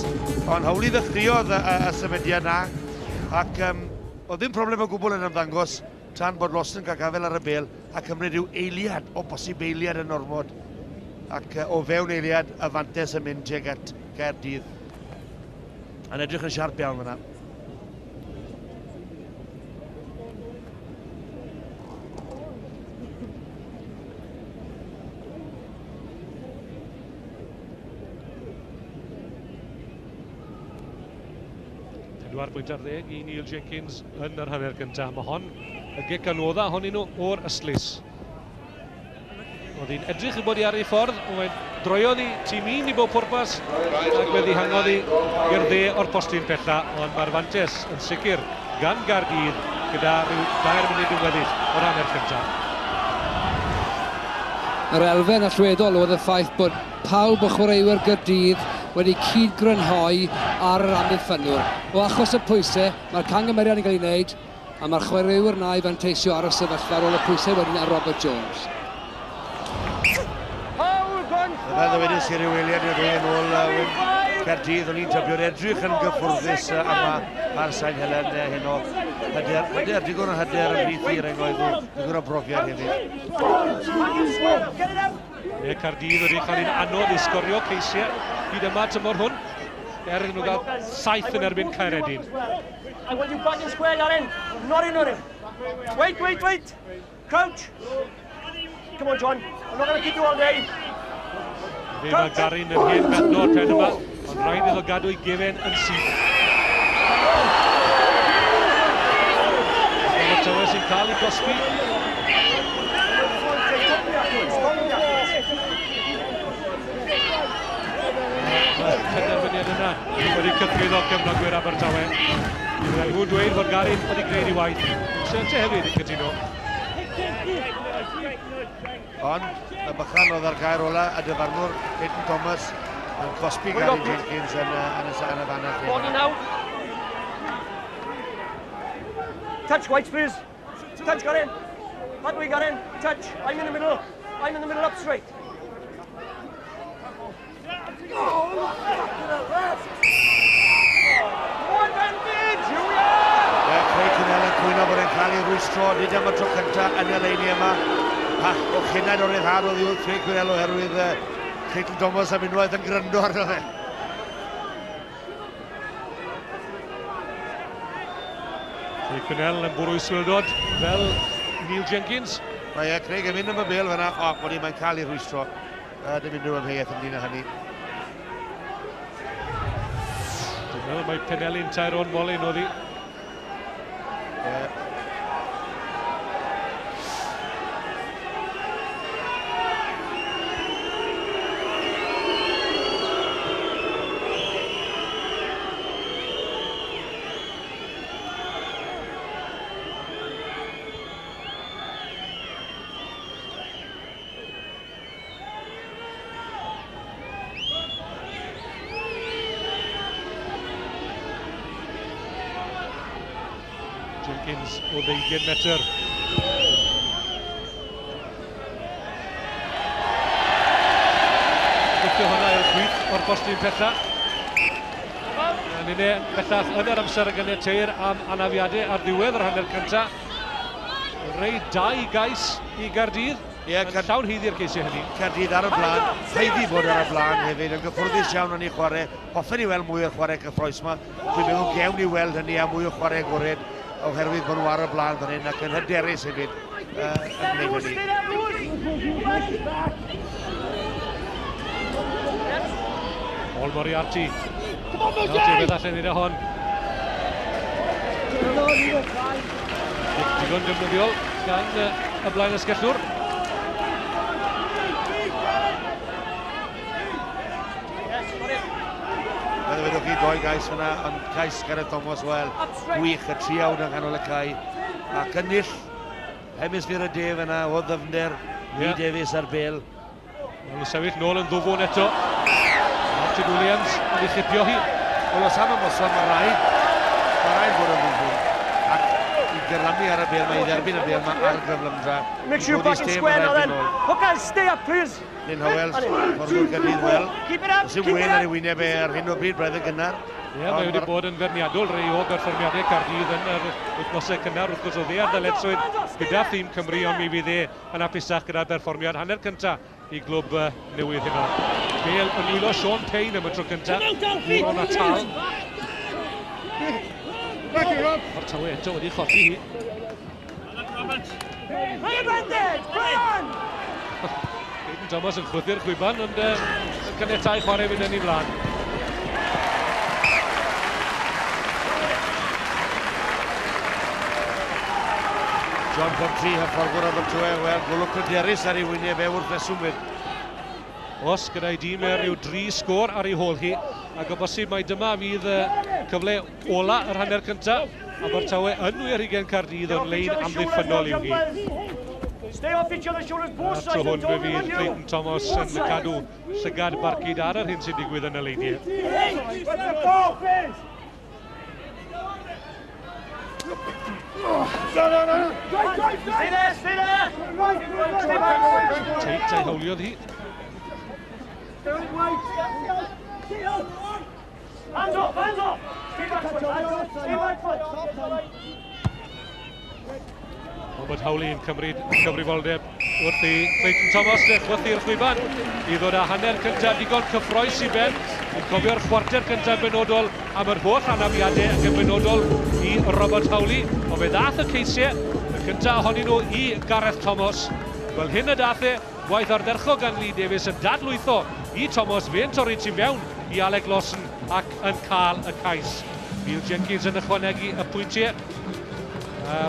Ond Howley ddechreuodd y symudiad na, ac oedd ddim problem o gwbl yn ymddangos tan bod Lawson cael gafel ar y bel a cymryd rhyw eiliad, o bosib eiliad yn ormod. Ac o fewn eiliad, y fantes yn mynd tuag at Gaerdydd. Yn edrych yn siarp iawn fyna. 4 pwynt ar 10 i Neil Jenkins yn yr hanner gyntaf. Mae hon y gic anodda ohonyn nhw o'r ystlys. Oedd hi'n edrych i bod i ar ei ffordd, ond mae'n droiodd i tîm un i bob pwrpas ac fe ddihangodd hi i'r dde o'r postyn pella, ond mae'r fantes yn sicr gan Gaerdydd gyda rhyw 2 munud yn weddill o'r hanner cyntaf. Yr elfen allweddol oedd y ffaith bod pawb o chwaraewyr Gaerdydd wedi cyd-grynhoi ar yr amddiffynwr. O achos y pwysau, mae'r cangymeriad yn cael ei wneud, a mae'r chwaraewyr na i fanteisio ar y sefyllfa ar ôl y pwysau wedyn ar Robert Jones. Fel ddywedais i ryw eiliad neu ddwy yn ôl, Caerdydd, o'n i'n tybio'n edrych yn gyffwrddus yma ar Sain Helen heno. Hyder, hyder, digon o hyder ymhlith i rengoedd nhw, digon o brofiad hefyd. Mae Caerdydd wedi cael un anodd i sgorio ceisiau hyd yma tymor hwn. Er iddyn nhw gael 7 yn erbyn Caeredin. I want you back in square, Aaron. Not in, not in. Wait, wait, wait. Crouch. Come on, John. I'm not going to keep you all day. Fe mae Garin yn hen gadno'r pen yma, ond rhaid iddo gadw ei gefen yn syth. Abertawe sy'n cael ei gosbi. Mae'r penderfyniad yna wedi cythruddo cefnogwyr Abertawe. Bydden nhw'n dweud fod Garin wedi gwneud ei waith. Sente hefyd yn cytuno. Ond y bychan oedd ar gair ola, y dyfarnwr Clayton Thomas yn cosbi Gary Jenkins yn y fan lle. Body now. Touch, White, please. Touch, Garin. That way, Garin. Touch. I'm in the middle. I'm in the middle up straight. Advantage! Here we are! Craig Quinnell yn cwyno bod e'n cael ei rwystro, nid am y tro cyntaf yn y leini yma. Pach o chynnau o'r ryddhad oedd i'w Craig Quinnell oherwydd Clayton Thomas am unwaith yn gryndo arno fe. Craig Quinnell yn bwrw i swildod fel Neil Jenkins. Mae Craig yn mynd am y bêl fyna, o, bod mae'n cael ei rwystro. Dim unrhyw amheuaeth ynglyn â hynny. Dwi'n meddwl mae penelin Tyrone Molyn oedd hi. Jenkins o 20 metr. Gwthio hwnna i'r chwith o'r postyn pella. Yn unig bellach yn yr amser y ganiateir am anafiadau ar ddiwedd yr hanner cyntaf. Rei 2 gais i Gaerdydd. Ie, llawn haeddu'r ceisiau hynny. Caerdydd ar y blaen, haeddu bod ar y blaen hefyd, yn gyffwrddus iawn yn ei chwarae. Hoffen i weld mwy o'r chwarae cyffrous yma. Dwi'n meddwl gewn ni weld hynny a mwy o chwarae agored oherwydd bod nhw ar y blaen fan hyn ac yn hyderus hefyd yn gwneud hynny. Paul Moriarty. Nawr beth allan ni'n hon. Digon defnyddiol gan y blaen ysgellwr. Fel ddwedwch chi, 2 gais fyna, ond cais Gareth Thomas, wel, gwych, y triawd yng nghanol y cae. Ac ennill hemisffer y de fyna o ddyfnder, Lee Davies ar bêl. Mae'n sefyll nôl yn ddwfwn eto. Martin Williams yn ei chipio hi. Wel, os am ymosod, mae rhaid bod yn ddwfwn. Ac i gyrlamu ar y bêl, mae i dderbyn y bêl, mae ar gyflymdra. Make sure you're back in square now then. Hookers, stay up, please. Lynn Howells, fforddwr Gaerdydd, wel. Sy'n wen ar ei wyneb e ar hyn o bryd, braidd yn gynnar. Ie, mae wedi bod yn ferniadol rei o berfformiadau Caerdydd yn yr wythnosau cynnar. Wrth gwrs, oedd e ar ddyletswydd gyda thîm Cymru, ond mi fydd e yn hapusach gyda'r berfformiad hanner cyntaf i glwb newydd heno. Bêl yn nwylo Sean Payne am y tro cyntaf. Gŵr o Natal. Abertawe eto wedi cholli hi. Clayton Thomas yn chwythu'r chwiban, ond yn caniatáu chwarae fynd yn ei flaen. John Plumtree, hyfforddwr Abertawe, wel, golwg pryderus ar ei wyneb e wrth reswm fyd. Os gyda'i dîm e rhyw 3 sgôr ar ei hôl hi, ac o bosib mai dyma fydd cyfle ola yr hanner cyntaf. Abertawe yn 8 Caerdydd o'n lein amddiffynnol yw hi. A'r tro hwn fe fydd Clayton Thomas yn cadw llygad barcud ar yr hyn sy'n digwydd yn y leiniau. Teit a'i hawliodd hi. Hands off, hands off! Stay back foot, stay back foot! Robert Howley yn cymryd cyfrifoldeb wrth i Clayton Thomas chwythu'r chwiban i ddod â hanner cyntaf digon cyffrous i ben. Yn cofio'r chwarter cyntaf benodol am yr holl anafiadau ac yn benodol i Robert Howley. Ond fe ddath y ceisiau, y cyntaf ohonyn nhw i Gareth Thomas. Fel hyn y dath e, gwaith ardderchog gan Lee Davies yn dadlwytho i Thomas, fe'n torri tu fewn i Alec Lawson ac yn cael y cais. Neil Jenkins yn ychwanegu y pwyntiau.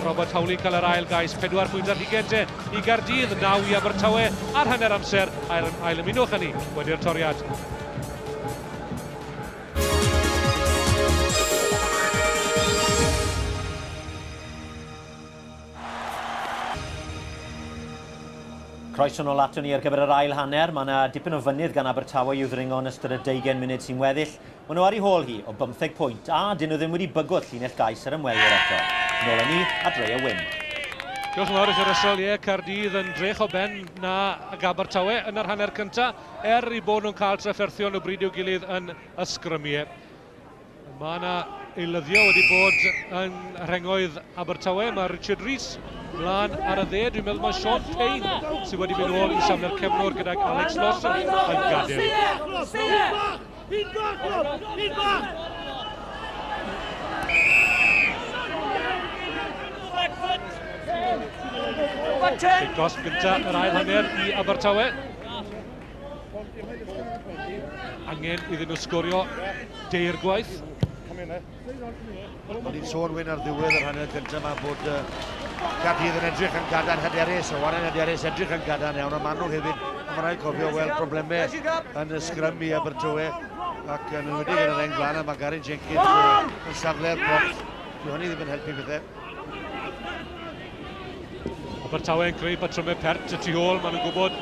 Robert Howley cael yr ail gais, 4 pwynt ar hugain te i Gaerdydd, 9 i Abertawe ar hanner amser, ail ymunwch â ni wedi'r toriad. Croeso nôl aton ni ar gyfer yr ail hanner. Mae yna dipyn o fynydd gan Abertawe i'w ddringo yn ystod y 20 munud sy'n weddill. Maen nhw ar ei hôl hi o 15 pwynt a dyn nhw ddim wedi bygwth llinell gais yr ymwelwyr eto. Nôl â ni at Ray a Wyn. Diolch yn fawr i chi Russell, ie, Caerdydd yn drech o ben na ag Abertawe yn yr hanner cyntaf, er i bod nhw'n cael trafferthion o bryd i'w gilydd yn y sgrymiau. Mae yna eilyddio wedi bod yn rhengoedd Abertawe. Mae Richard Rees mlaen ar y dde. Dwi'n meddwl mae Sean Payne sydd wedi mynd ôl i safle'r cefnwr gydag Alex Lawson yn gadael. Cic gosb gyntaf yr ail hanner i Abertawe. Angen iddyn nhw sgorio deir gwaith. O'n i'n sôn Wyn ar ddiwedd yr hanner cyntaf yma bod Caerdydd yn edrych yn gadarn hyderus, o Warren hyderus edrych yn gadarn iawn, ond maen nhw hefyd, ond mae'n rhaid cofio weld problemau yn y sgrym i Abertawe ac yn enwedig yn yr reng flaen, a mae Gary Jenkins yn safle'r prop. Dyw hynny ddim yn helpu pethau. Abertawe yn creu patrymau pert y tu ôl, maen nhw'n gwybod.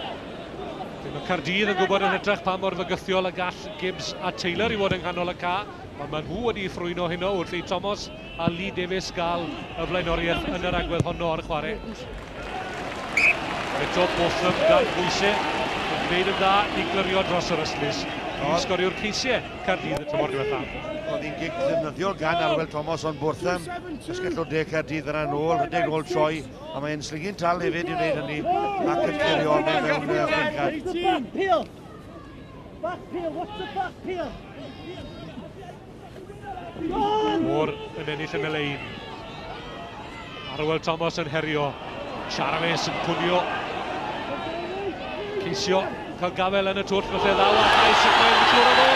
Mae Caerdydd yn gwybod yn hytrach pa mor fygythiol y gall Gibbs a Taylor i fod yng nghanol y ca, ond maen nhw wedi ffrwyno heno wrth i Thomas a Lee Davies gael y flaenoriaeth yn yr agwedd honno o'r chwarae. Eto Botham dan bwysau yn gwneud yn dda i glirio dros yr ystlys i sgorio'r ceisiau Caerdydd y tymor diwethaf. Oedd hi'n gic ddefnyddiol gan Arwel Thomas ond Botham, ysgell o de Caerdydd yna nôl, rhedeg nôl troi, a mae'n slygu'n tal hefyd i wneud hynny ac yn clirio mewn chwincad. Moore yn ennill yn y lein. Arwel Thomas yn herio. Jarvis yn pwnio. Ceisio cael gafel yn y twll, felly ddaw a cais ac mae'n siŵr o fod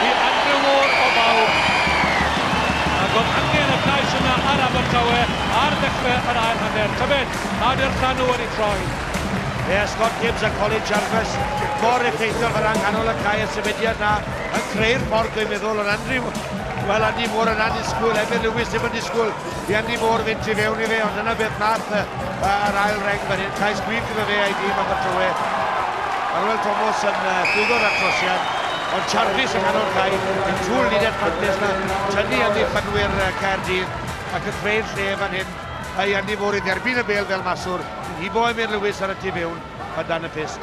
i Andrew Moore o bawb. Ac oedd angen y cais yna ar Abertawe ar ddechrau yr ail hanner. Tybed, a ydy'r llanw wedi troi. Ie, Scott Gibbs a Colin Jarvis mor effeithiol fel nghanol y cae, y symudiad na yn creu'r ffordd dwi'n meddwl, ond Andrew, wel Andy Moore yn annisgwyl, Emyr Lewis ddim yn disgwyl i Andy Moore fynd tu fewn i fe, ond dyna beth nath yr ail reng fan hyn, cais gwych iddo fe a'i dîm Abertawe. Arwel Thomas yn llwyddo'r atrosiad, ond Jarvis yn nghanol cae, yn trwy'r linell fantes na, tynnu amddiffynwyr Caerdydd ac yn creu'r lle fan hyn, a i Andy Moore i dderbyn y bêl fel maswr, hibo Emyr Lewis ar y tu fewn, a dan y pyst.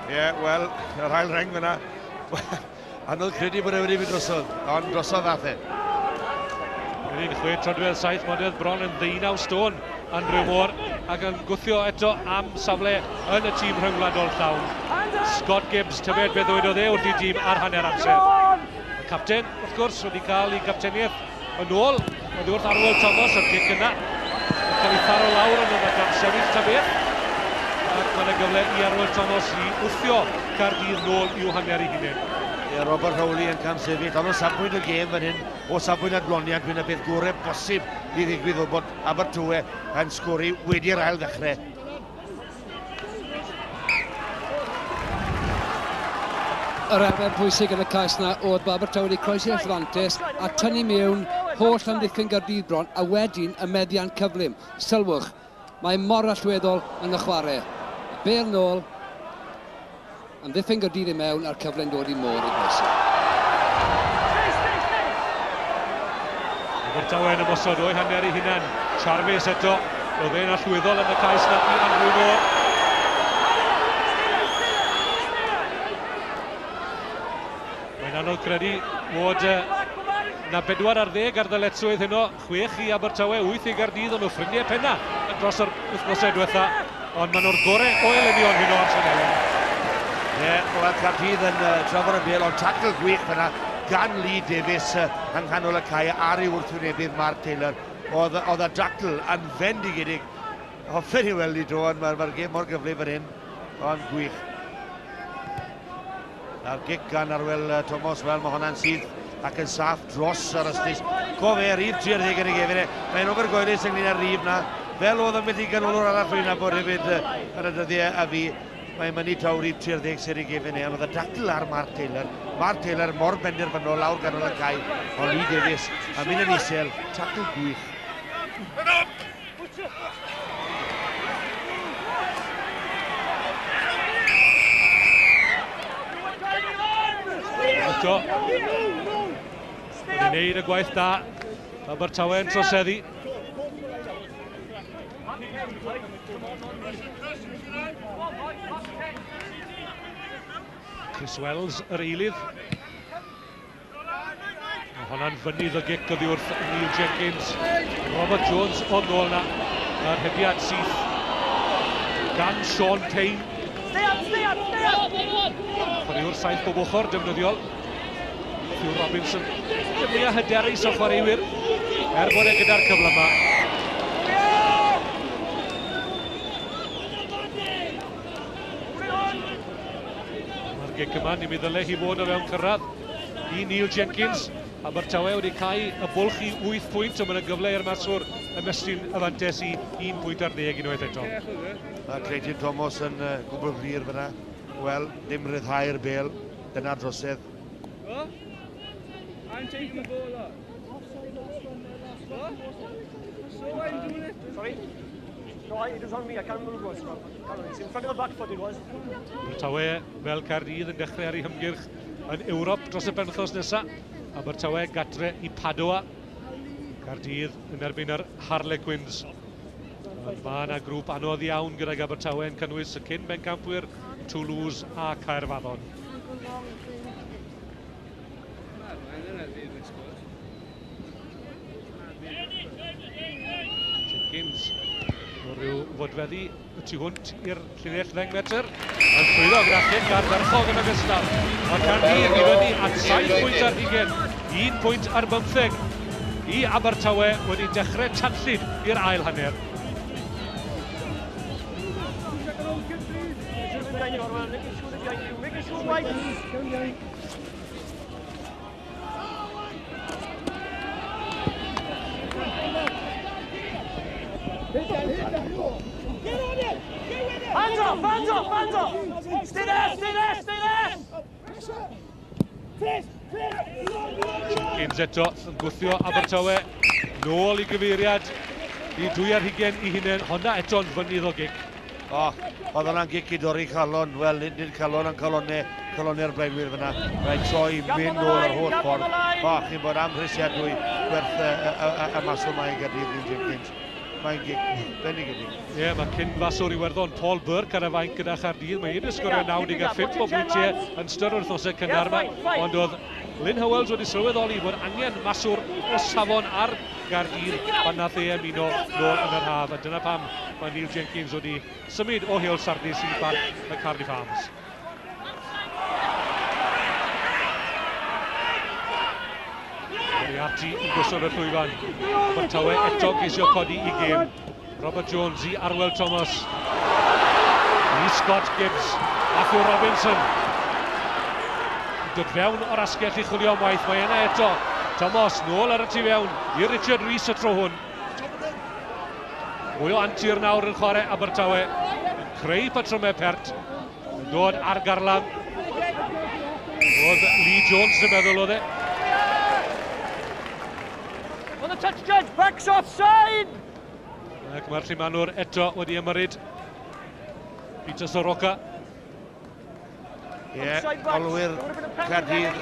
Ie, wel, yr ail reng fyna, anodd credu bod e wedi mynd drosodd, ond drosodd ddath e. Yr 16 troedfedd 7 modfedd bron yn 19 stôn Andrew Moore ac yn gwthio eto am safle yn y tîm rhyngwladol llawn. Scott Gibbs, tybed beth ddywedodd e wrth i dîm ar hanner amser. Y capten, wrth gwrs, wedi cael ei gapteniaeth yn ôl, oedd wrth Arwel Thomas o'r gic yna. Yn cael ei tharo lawr yn yna gan sefyll ta beth. Ac mae yna gyfle i Arwel Thomas i wthio Caerdydd nôl i'w hanner ei hunain. Ie, Robert Rowley yn camsefyll, ond o safbwynt y gêm fan hyn, o safbwynt adloniant, dwi'n y beth gorau bosib i ddigwydd o bod Abertawe yn sgori wedi'r ail ddechrau. Yr elfen pwysig yn y cais yna oedd bod Abertawe wedi croesi'r Atlantis a tynnu mewn holl amddiffyn Gaerdydd bron a wedyn y meddiant cyflym. Sylwch, mae mor allweddol yn y chwarae. Y bêl nôl, amddiffyn Gaerdydd i mewn a'r cyfle'n dod i Moore i groesi. Abertawe yn ymosod o'i hanner ei hunan. Jarvis eto, oedd e'n allweddol yn y cais na i Andrew Moore. Mae'n anodd credu bod na 4 ar 10 ar ddyletswydd heno, 6 i Abertawe, 8 i Gaerdydd, ond nhw ffrindiau penna dros yr wythnosau diwetha, ond maen nhw'r gorau o elynion heno ar Sianelen. Ie, wel Caerdydd yn trafod y bêl, ond tacl gwych fyna gan Lee Davies yng nghanol y cae ar ei wrthwynebydd Mark Taylor. Oedd y dacl yn fendigedig. Hoffen i weld i dro, ond mae'r gêm mor gyflym fan hyn, ond gwych. A'r gic gan Arwel Thomas, wel, mae hwnna'n syth ac yn saff dros yr ystlys. Cof e, rhif 30 yn ei gefn e. Mae'n ofergoelus ynglyn â'r rhif na. Fel oedd ambell i ganolwr arall rwy'n nabod hefyd yn y dyddiau a fi. Mae'n mynnu taw rhif 30 sydd ei gefn e, ond oedd y dacl ar Mark Taylor. Mark Taylor mor benderfynol lawr ganol y cae, ond Lee Davies yn mynd yn isel, tacl gwych. Eto, wedi wneud y gwaith da. Abertawe yn troseddu. Chris Wells, yr eilydd. Mae honna'n fynydd o gic oddi wrth Neil Jenkins. Robert Jones o nôl na. Mae'r rhediad syth gan Sean Payne. Stay up, stay up, stay up! Chwaraewr saith bob ochr, defnyddiol. Hugh Robinson, y mwyaf hyderus o chwaraewyr, er bod e gyda'r cyfle yma. Mae'r gic yma, ni'n mynd ddyle hi fod o fewn cyrraedd i Neil Jenkins. Abertawe wedi cau y bwlch i 8 pwynt, ond mae'n gyfle i'r maswr ymestyn y fantes i 1 pwynt ar 10 unwaith eto. Mae Clayton Thomas yn gwbl glir fyna. Wel, dim rhyddhau'r bel, dyna drosedd. I'm taking the ball up. What? So I'm doing it. Sorry? No, it was on me. I can't remember who it was. It's in front of the back foot it was. Abertawe fel Caerdydd yn dechrau ar ei hymgyrch yn Ewrop dros y penwythnos nesaf. Abertawe gatre i Padua. Caerdydd yn erbyn yr Harlequins. Mae yna grŵp anodd iawn gydag Abertawe yn cynnwys y cyn bencampwyr Toulouse a Caerfaddon. Jenkins o ryw fodfeddi y tu hwnt i'r llinell 10 metr. Yn llwyddo gyda chic ardderchog yn ogystal. Mae Caerdydd i fyny at 7 pwynt ar 20, 1 pwynt ar 15 i Abertawe wedi dechrau tanllyd i'r ail hanner. Hands off, hands off, hands off! Stay there, stay there, stay there! Jenkins eto yn gwthio Abertawe nôl i gyfeiriad i 2 ar 20 i hunain. Honna eto'n fynydd o gic. O, oedd hwnna'n gic i dorri calon. Wel, nid calon, ond calonau'r blaenwyr fyna. Rhaid troi mynd nôl yr holl ffordd. O, chi'n bod amhrisiadwy gwerth y maswr mae i Gaerdydd, Neil Jenkins. Mae'n gic bendigedig. Ie, yeah, mae cyn faswr Iwerddon Paul Burke ar y fainc gyda Chaerdydd. Mae wedi sgorio 95 o bwyntiau yn ystod yr wythnosau cynnar yma. Ond oedd Lynn Howells wedi sylweddoli bod angen maswr o safon ar Gaerdydd pan nath e ymuno nôl yn yr haf. A dyna pam mae Neil Jenkins wedi symud o Heol Sardis i Barc y Cardiff Arms. Moriarty yn gosod y llwyfan. Abertawe eto geisio codi i gêm. Robert Jones i Arwel Thomas. I Scott Gibbs. Matthew Robinson. Dod fewn o'r asgell i chwilio am waith. Mae yna eto. Thomas nôl ar y tu fewn i Richard Rees y tro hwn. Mwy o antur nawr yn chwarae Abertawe. Yn creu patrymau pert. Yn dod ar garlam. Oedd Lee Jones yn meddwl oedd e. On the touch judge, backs offside! Ac mae'r llumanwr eto wedi ymyrryd. Peter Soroka. Ie, olwyr Caerdydd,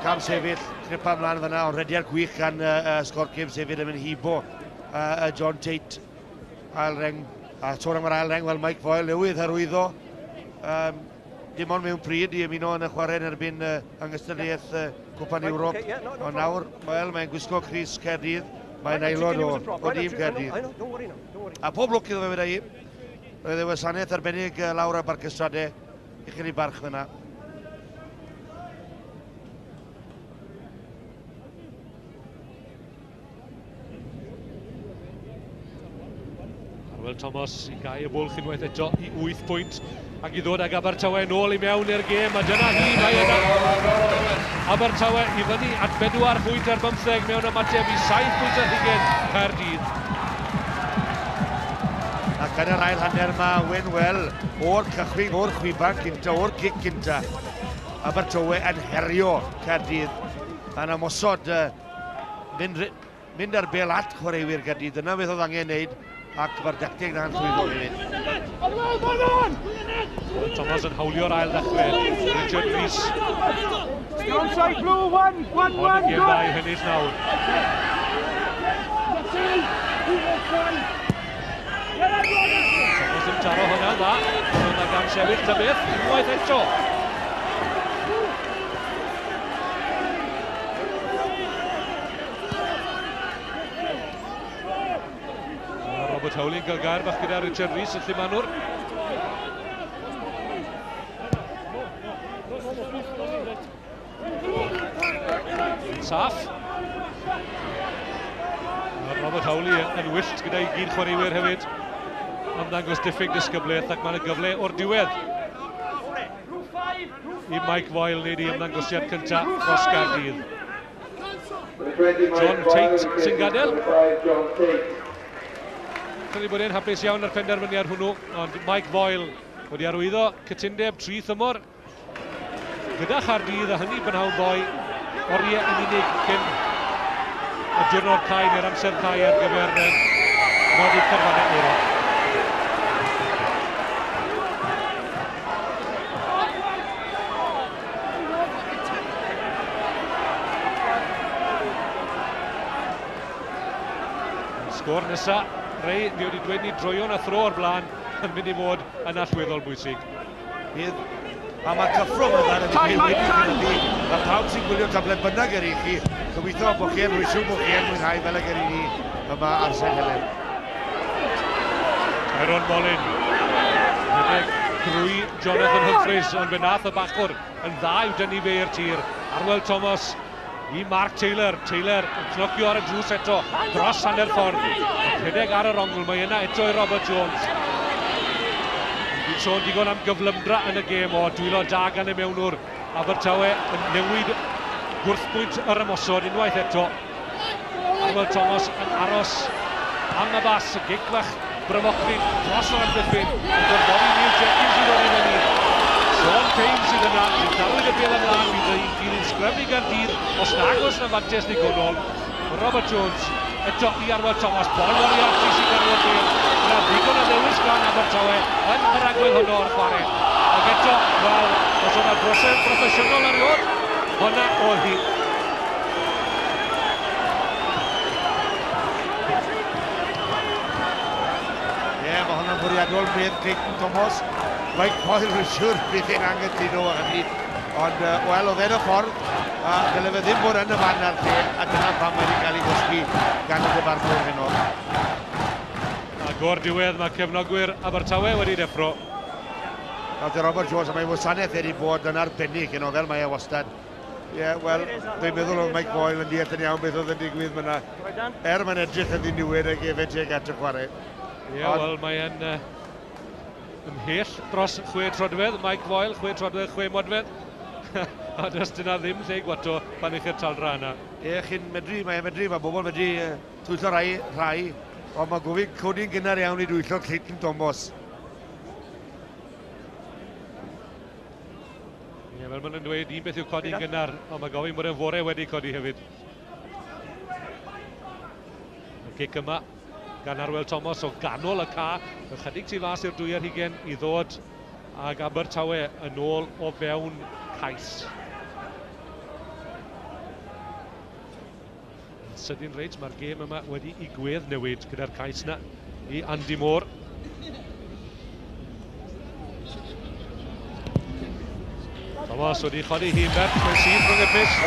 cam sefyll, cripa ymlaen fyna, ond rediad gwych gan Scott Gibbs hefyd yn mynd hibo John Tate, ail reng, a sôn am yr ail reng, wel Mike Foyle newydd hyrwyddo. Dim ond mewn pryd i ymuno yn y chwarae yn erbyn yng ngystadleuaeth Cwpan Ewrop. Ond nawr, wel, mae'n gwisgo crys Caerdydd, mae'n aelod o dîm Caerdydd. A pob lwc iddo fe weda i. Roedd e wasanaeth arbennig lawr ar Barc y Strade, uchel i barch fyna. Arwel Arwel Thomas i gau y bwlch unwaith eto i 8 pwynt ac i ddod ag Abertawe nôl i mewn i'r gêm, a dyna hi, mae yna Abertawe i fyny at 4 pwynt ar 15 mewn ymateb i 7 pwynt ar 20 Caerdydd. Ac yn yr ail hanner mae Owen Well o'r cychwyn, o'r chwiban cynta, o'r cic cynta. Abertawe yn herio Caerdydd. Yn ymosod, mynd ar bêl at chwaraewyr Caerdydd. Dyna beth oedd angen wneud, ac mae'r dacteg na'n llwyddo hefyd. Thomas yn hawlio'r ail ddechrau. Richard Rees. Onside blue, 1, 1, 1, Ond y gêm dda i hynny'n nawr. Thomas yn taro hwnna dda. Hwnna gan sefyll ta beth, unwaith eto. Robert Howley yn cael gair bach gyda Richard Rees, y llumanwr. Saff. Mae Robert Howley yn wyllt gyda'i gyd chwaraewyr hefyd. Ymddangos diffyg disgyblaeth ac mae'n gyfle o'r diwedd i Mike Voyle wneud ei ymddangosiad cyntaf dros Gaerdydd. John Tate sy'n gadael. Credu bod e'n hapus iawn ar penderfyniad hwnnw, ond Mike Voyle wedi arwyddo cytundeb 3 thymor gyda Chaerdydd, a hynny brynhawn ddoe, oriau yn unig cyn y diwrnod cau neu'r amser cau ar gyfer nodi carfannau Ewrop. Sgôr nesaf, Rei, ni wedi dweud ni droion a thro o'r blaen yn mynd i fod yn allweddol bwysig. Bydd, a mae'r cyffro yma yn wedi cynyddu. Mae pawb sy'n gwylio tablet bynnag er i chi, gobeithio bod chi yn rwysiw bod chi yn mwynhau fel y gyrru ni yma ar Sain Helen. Aaron Molin, rhedeg drwy Jonathan Humphreys, ond fe nath y bachwr yn dda i'w dynnu fe i'r tir. Arwel Thomas i Mark Taylor. Taylor yn cnocio ar y drws eto, dros hanner ffordd. Rhedeg ar yr ongl, mae yna eto i Robert Jones. Dwi'n sôn digon am gyflymdra yn y gêm o dwylo da gan y mewnwr. Abertawe yn newid gwrthbwynt yr ymosod unwaith eto. Arwel Thomas yn aros am y bas, y gic fach bryfochlyd dros yr amddiffyn. Yn gorfodi Neil Jenkins i ddod i fyny. Sean Payne sydd yna, yn dawyd y bêl ymlaen, bydd yn dilyn sgrym i Gaerdydd, os nag oes na fantes ddigonol. Robert Jones eto i Arwel Thomas, Paul Moriarty sy'n gadw'r bêl. Yna ddigon o ddewis gan Abertawe yn yr agwedd honno o'r chwarae. Ac eto, wel, os o'na brosedd broffesiynol erioed, honna oedd hi. Ie, mae hwnna'n fwriadol medd Clayton Thomas. Mike Voyle, rwy'n siŵr bydd e'n anghytuno â hynny. Ond, wel, oedd e'n y ffordd, a dyle fe ddim bod yn y fan a'r lle, a dyna pam mae wedi cael ei gosbi gan y dyfarnwr heno. Ac o'r diwedd mae cefnogwyr Abertawe wedi deffro. Nawr te Robert Jones, a mae wasanaeth wedi bod yn arbennig heno, fel mae e wastad. Ie, wel, dwi'n meddwl oedd Mike Voyle yn deall yn iawn beth oedd yn digwydd fyna. Er mae'n edrych yn ddiniwed ag efe tuag at y chwarae. Ie, wel, mae'n ymhell dros 6 troedfedd, Mike Voyle, 6 troedfedd, 6 modfedd. A does dyna ddim lle i gwato pan eich i'r taldra yna. Ie, chi'n medru, mae'n medru, mae bobl medru twyllo rhai, ond mae gofyn codi'n gynnar iawn i dwyllo Clayton Thomas. Ie, fel maen nhw'n dweud, un beth yw codi'n gynnar, ond mae gofyn bod e'n fore wedi codi hefyd. Y cic yma gan Arwel Thomas o ganol y ca, ychydig tu fas i'r 22 i ddod ag Abertawe yn ôl o fewn cais. Yn sydyn reit, mae'r gêm yma wedi i gwedd newid gyda'r cais yna i Andy Moore. Thomas wedi chodi hi'n bert mewn syth rhwng y pyst.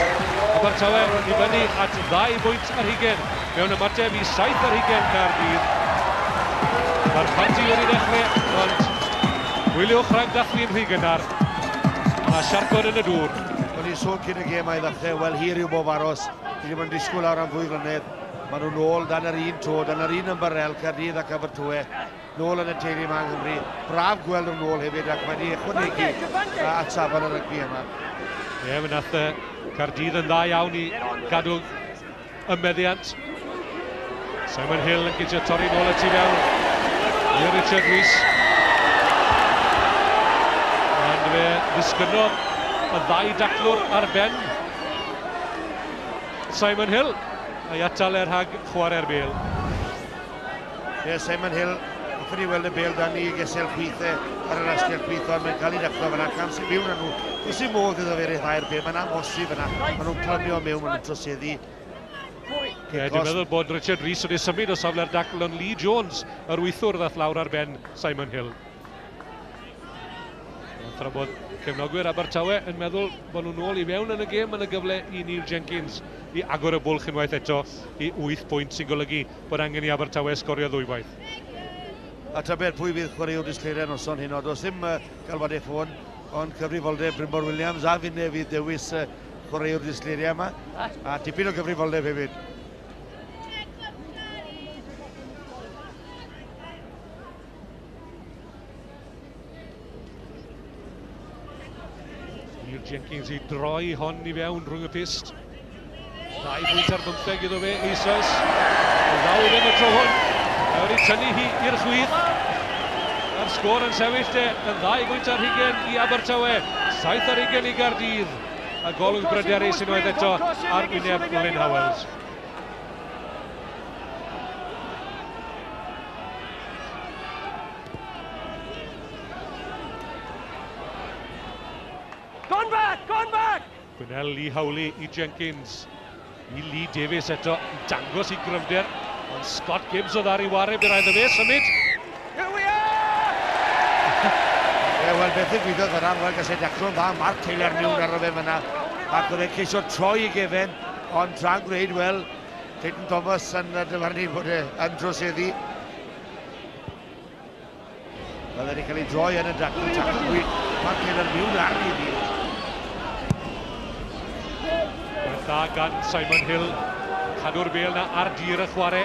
Abertawe i fyny at 2 bwynt ar 20 mewn ymateb i 7 ar 20 Caerdydd. Mae'r parti wedi dechrau, ond gwyliwch rhag dathlu'n rhy gynnar. Mae siarcod yn y dŵr. O'n i'n sôn cyn y gêm a'i ddechrau, wel hir yw bob aros. Fi ddim yn disgwyl awr am 2 flynedd. Maen nhw'n ôl dan yr un to, dan yr un ymbarel, Caerdydd ac Abertawe. nôl yn y teulu yma yng Nghymru. Braf gweld nhw nôl hefyd ac mae wedi ychwanegu at safon y rygbi yma. Ie, fe nath Caerdydd yn dda iawn i gadw y meddiant. Simon Hill yn ceisio torri nôl y tu fewn i Richard Rees. Ond fe ddisgynnodd y ddau daclwr ar ben Simon Hill a'i atal e rhag chwarae'r bêl. Ie, Simon Hill, hoffwn i weld y bêl dan i gesel chwith e ar yr asgell chwith, ond mae'n cael ei daclo fyna, cam sy'n mewn â nhw. Does dim modd iddo fe ryddhau'r bêl, mae'n amhosib fyna. Maen nhw'n clymio mewn, maen nhw'n troseddu. Ie, dwi'n meddwl bod Richard Rees wedi symud o safle'r dacl, ond Lee Jones, yr wythwr, ddath lawr ar ben Simon Hill. Tra bod cefnogwyr Abertawe yn meddwl bod nhw'n ôl i fewn yn y gêm, yn y gyfle i Neil Jenkins i agor y bwlch unwaith eto i 8 pwynt, sy'n golygu bod angen i Abertawe sgorio ddwywaith. A tybed pwy fydd chwaraewr disgleiriau noson hyn, does ddim galwadau ffôn, ond cyfrifoldeb Brynmor Williams a finne fydd dewis chwaraewr disgleiriau yma, a tipyn o gyfrifoldeb hefyd. Neil Jenkins i droi hon i fewn rhwng y pyst. 2 pwynt ar 15 iddo fe eisoes. Ddaw ddim y tro hwn. Mae wedi tynnu hi i'r chwith. A'r sgôr yn sefyll de yn 2 pwynt ar 20 i Abertawe. 7 ar 20 i Gaerdydd. A golwg bryderus unwaith eto ar wyneb Lynn Howells. Gone back! Gone back! Gwinnell i Howley i Jenkins. I Lee Davies eto, i dangos i gryfder. Ond Scott Gibbs oedd ar ei ware, bydd rhaid iddo fe symud. Here we are! Ie, wel, beth ddigwyddodd fyna, wel, gas e daclo'n dda, Mark Taylor mewn arno fe fyna. Ac oedd e'n ceisio troi i gefen, ond tra'n gwneud, wel, Clayton Thomas yn dyfarnu bod e yn troseddu. Wel, wedi cael ei droi yn y dacl, tacl gwych, Mark Taylor mewn ar ei ddyn. Dda gan Simon Hill, cadw'r bêl na ar dir y chwarae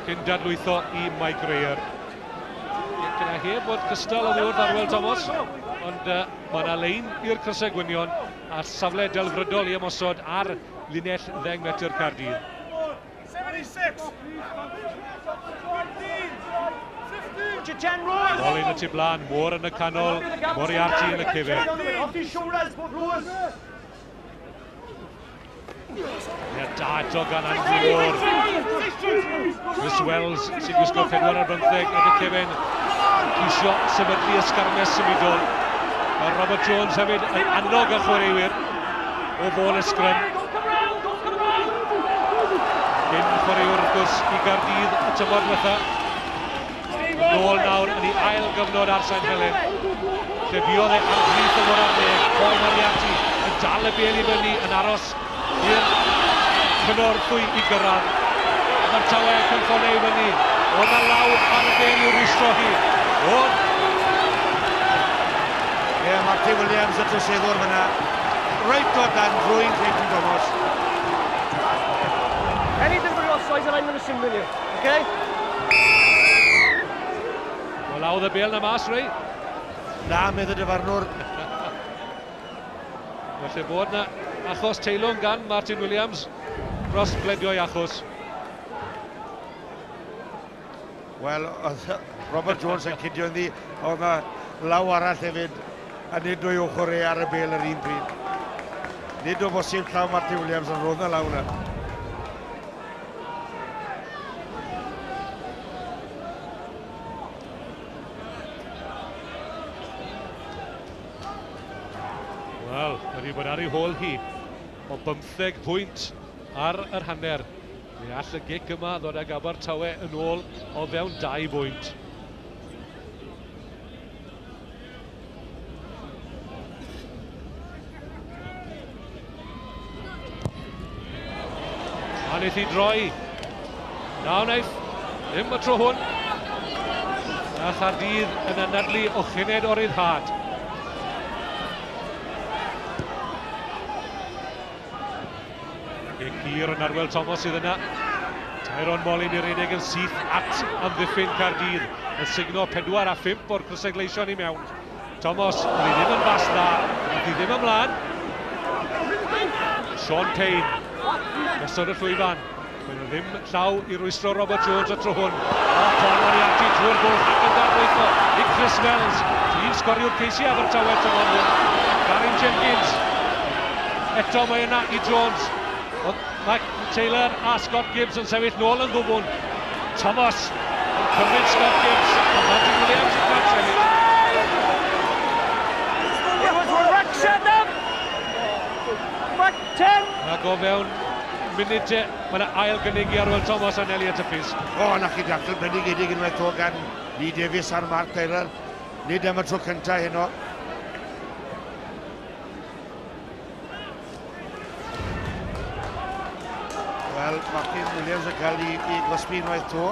cyn dadlwytho i Mike Rayer. Gyda heb fod cystal oddi wrth Arwel Thomas, ond mae yna lein i'r crysau gwynion a safle delfrydol i ymosod ar linell 10 metr Caerdydd. 76! 15! Molyn y tu blaen, Moore yn y canol, Moriarty yn y cefen. Off his shoulders, Rose! Ie, da eto gan Andrew Moore. Chris Wells sy'n gwisgo 4 ar 15 yn y cefen. Ceisio sefydlu ysgarmes symudol. Mae Robert Jones hefyd yn annog y chwaraewyr o fôl y sgrym. Cyn chwaraewr wrth gwrs i Gaerdydd y tymor diwetha. Nôl nawr yn ei ail gyfnod ar Saint Helen. Lle fuodd e am blith o fod ar ddeg. Paul Moriarty yn dal y bêl i fyny yn aros i'r cynorthwy i gyrraedd. Abertawe cynffon ei fyny. Oedd na law ar y bêl i'w rwystro hi. Oedd. Ie, Martin Williams y troseddwr fyna. Reit o dan drwy'n Clayton Thomas. Any delivery offsides and I'm going to signal you, okay? Wel, lawdd y bêl na mas, Ray. Na, medd y dyfarnwr. Felly bod na achos teilwng gan Martin Williams dros bledio'i achos. Wel, oedd Robert Jones yn cydio ynddi, oedd na law arall hefyd, a nid o'i ochr e ar y bêl yr un pryd. Nid o bosib llaw Martin Williams, ond roedd na law na. Wel, wedi bod ar ei hôl hi o 15 pwynt ar yr hanner. Mi all y gic yma ddod ag Abertawe yn ôl o fewn 2 bwynt. A wnaeth hi droi. Na wnaeth, ddim y tro hwn. A Chaerdydd yn anadlu o chyned o ryddhad. Gic hir yn Arwel Thomas sydd yna. Tyrone Molyn i redeg yn syth at amddiffyn Caerdydd. yn sugno 4 a 5 o'r crysau gleision i mewn. Thomas, oedd hi ddim yn bas dda, oedd hi ddim ymlaen. Sean Payne, gosod y llwyfan. Mae nhw ddim llaw i rwystro Robert Jones y tro hwn. O, Paul Moriarty trwy'r bwlch ac yn darlwytho i Chris Wells. Tîm sgoriwr ceisi Abertawe tymor hwn. Garin Jenkins. Eto mae yna i Jones. Ond Mike Taylor a Scott Gibbs yn sefyll nôl yn ddwfwn. Thomas yn cymryd Scott Gibbs. A Martin Williams yn cael sefyll. Ac o fewn munud te, mae yna ail gynnig i Arwel Thomas a Nelly at y Fisk. O, na chi dacl bendigedig unwaith o gan Lee Davies a'r Mark Taylor. Nid am y tro cyntaf heno. Wel, Martin Williams yn cael ei gosbi unwaith to.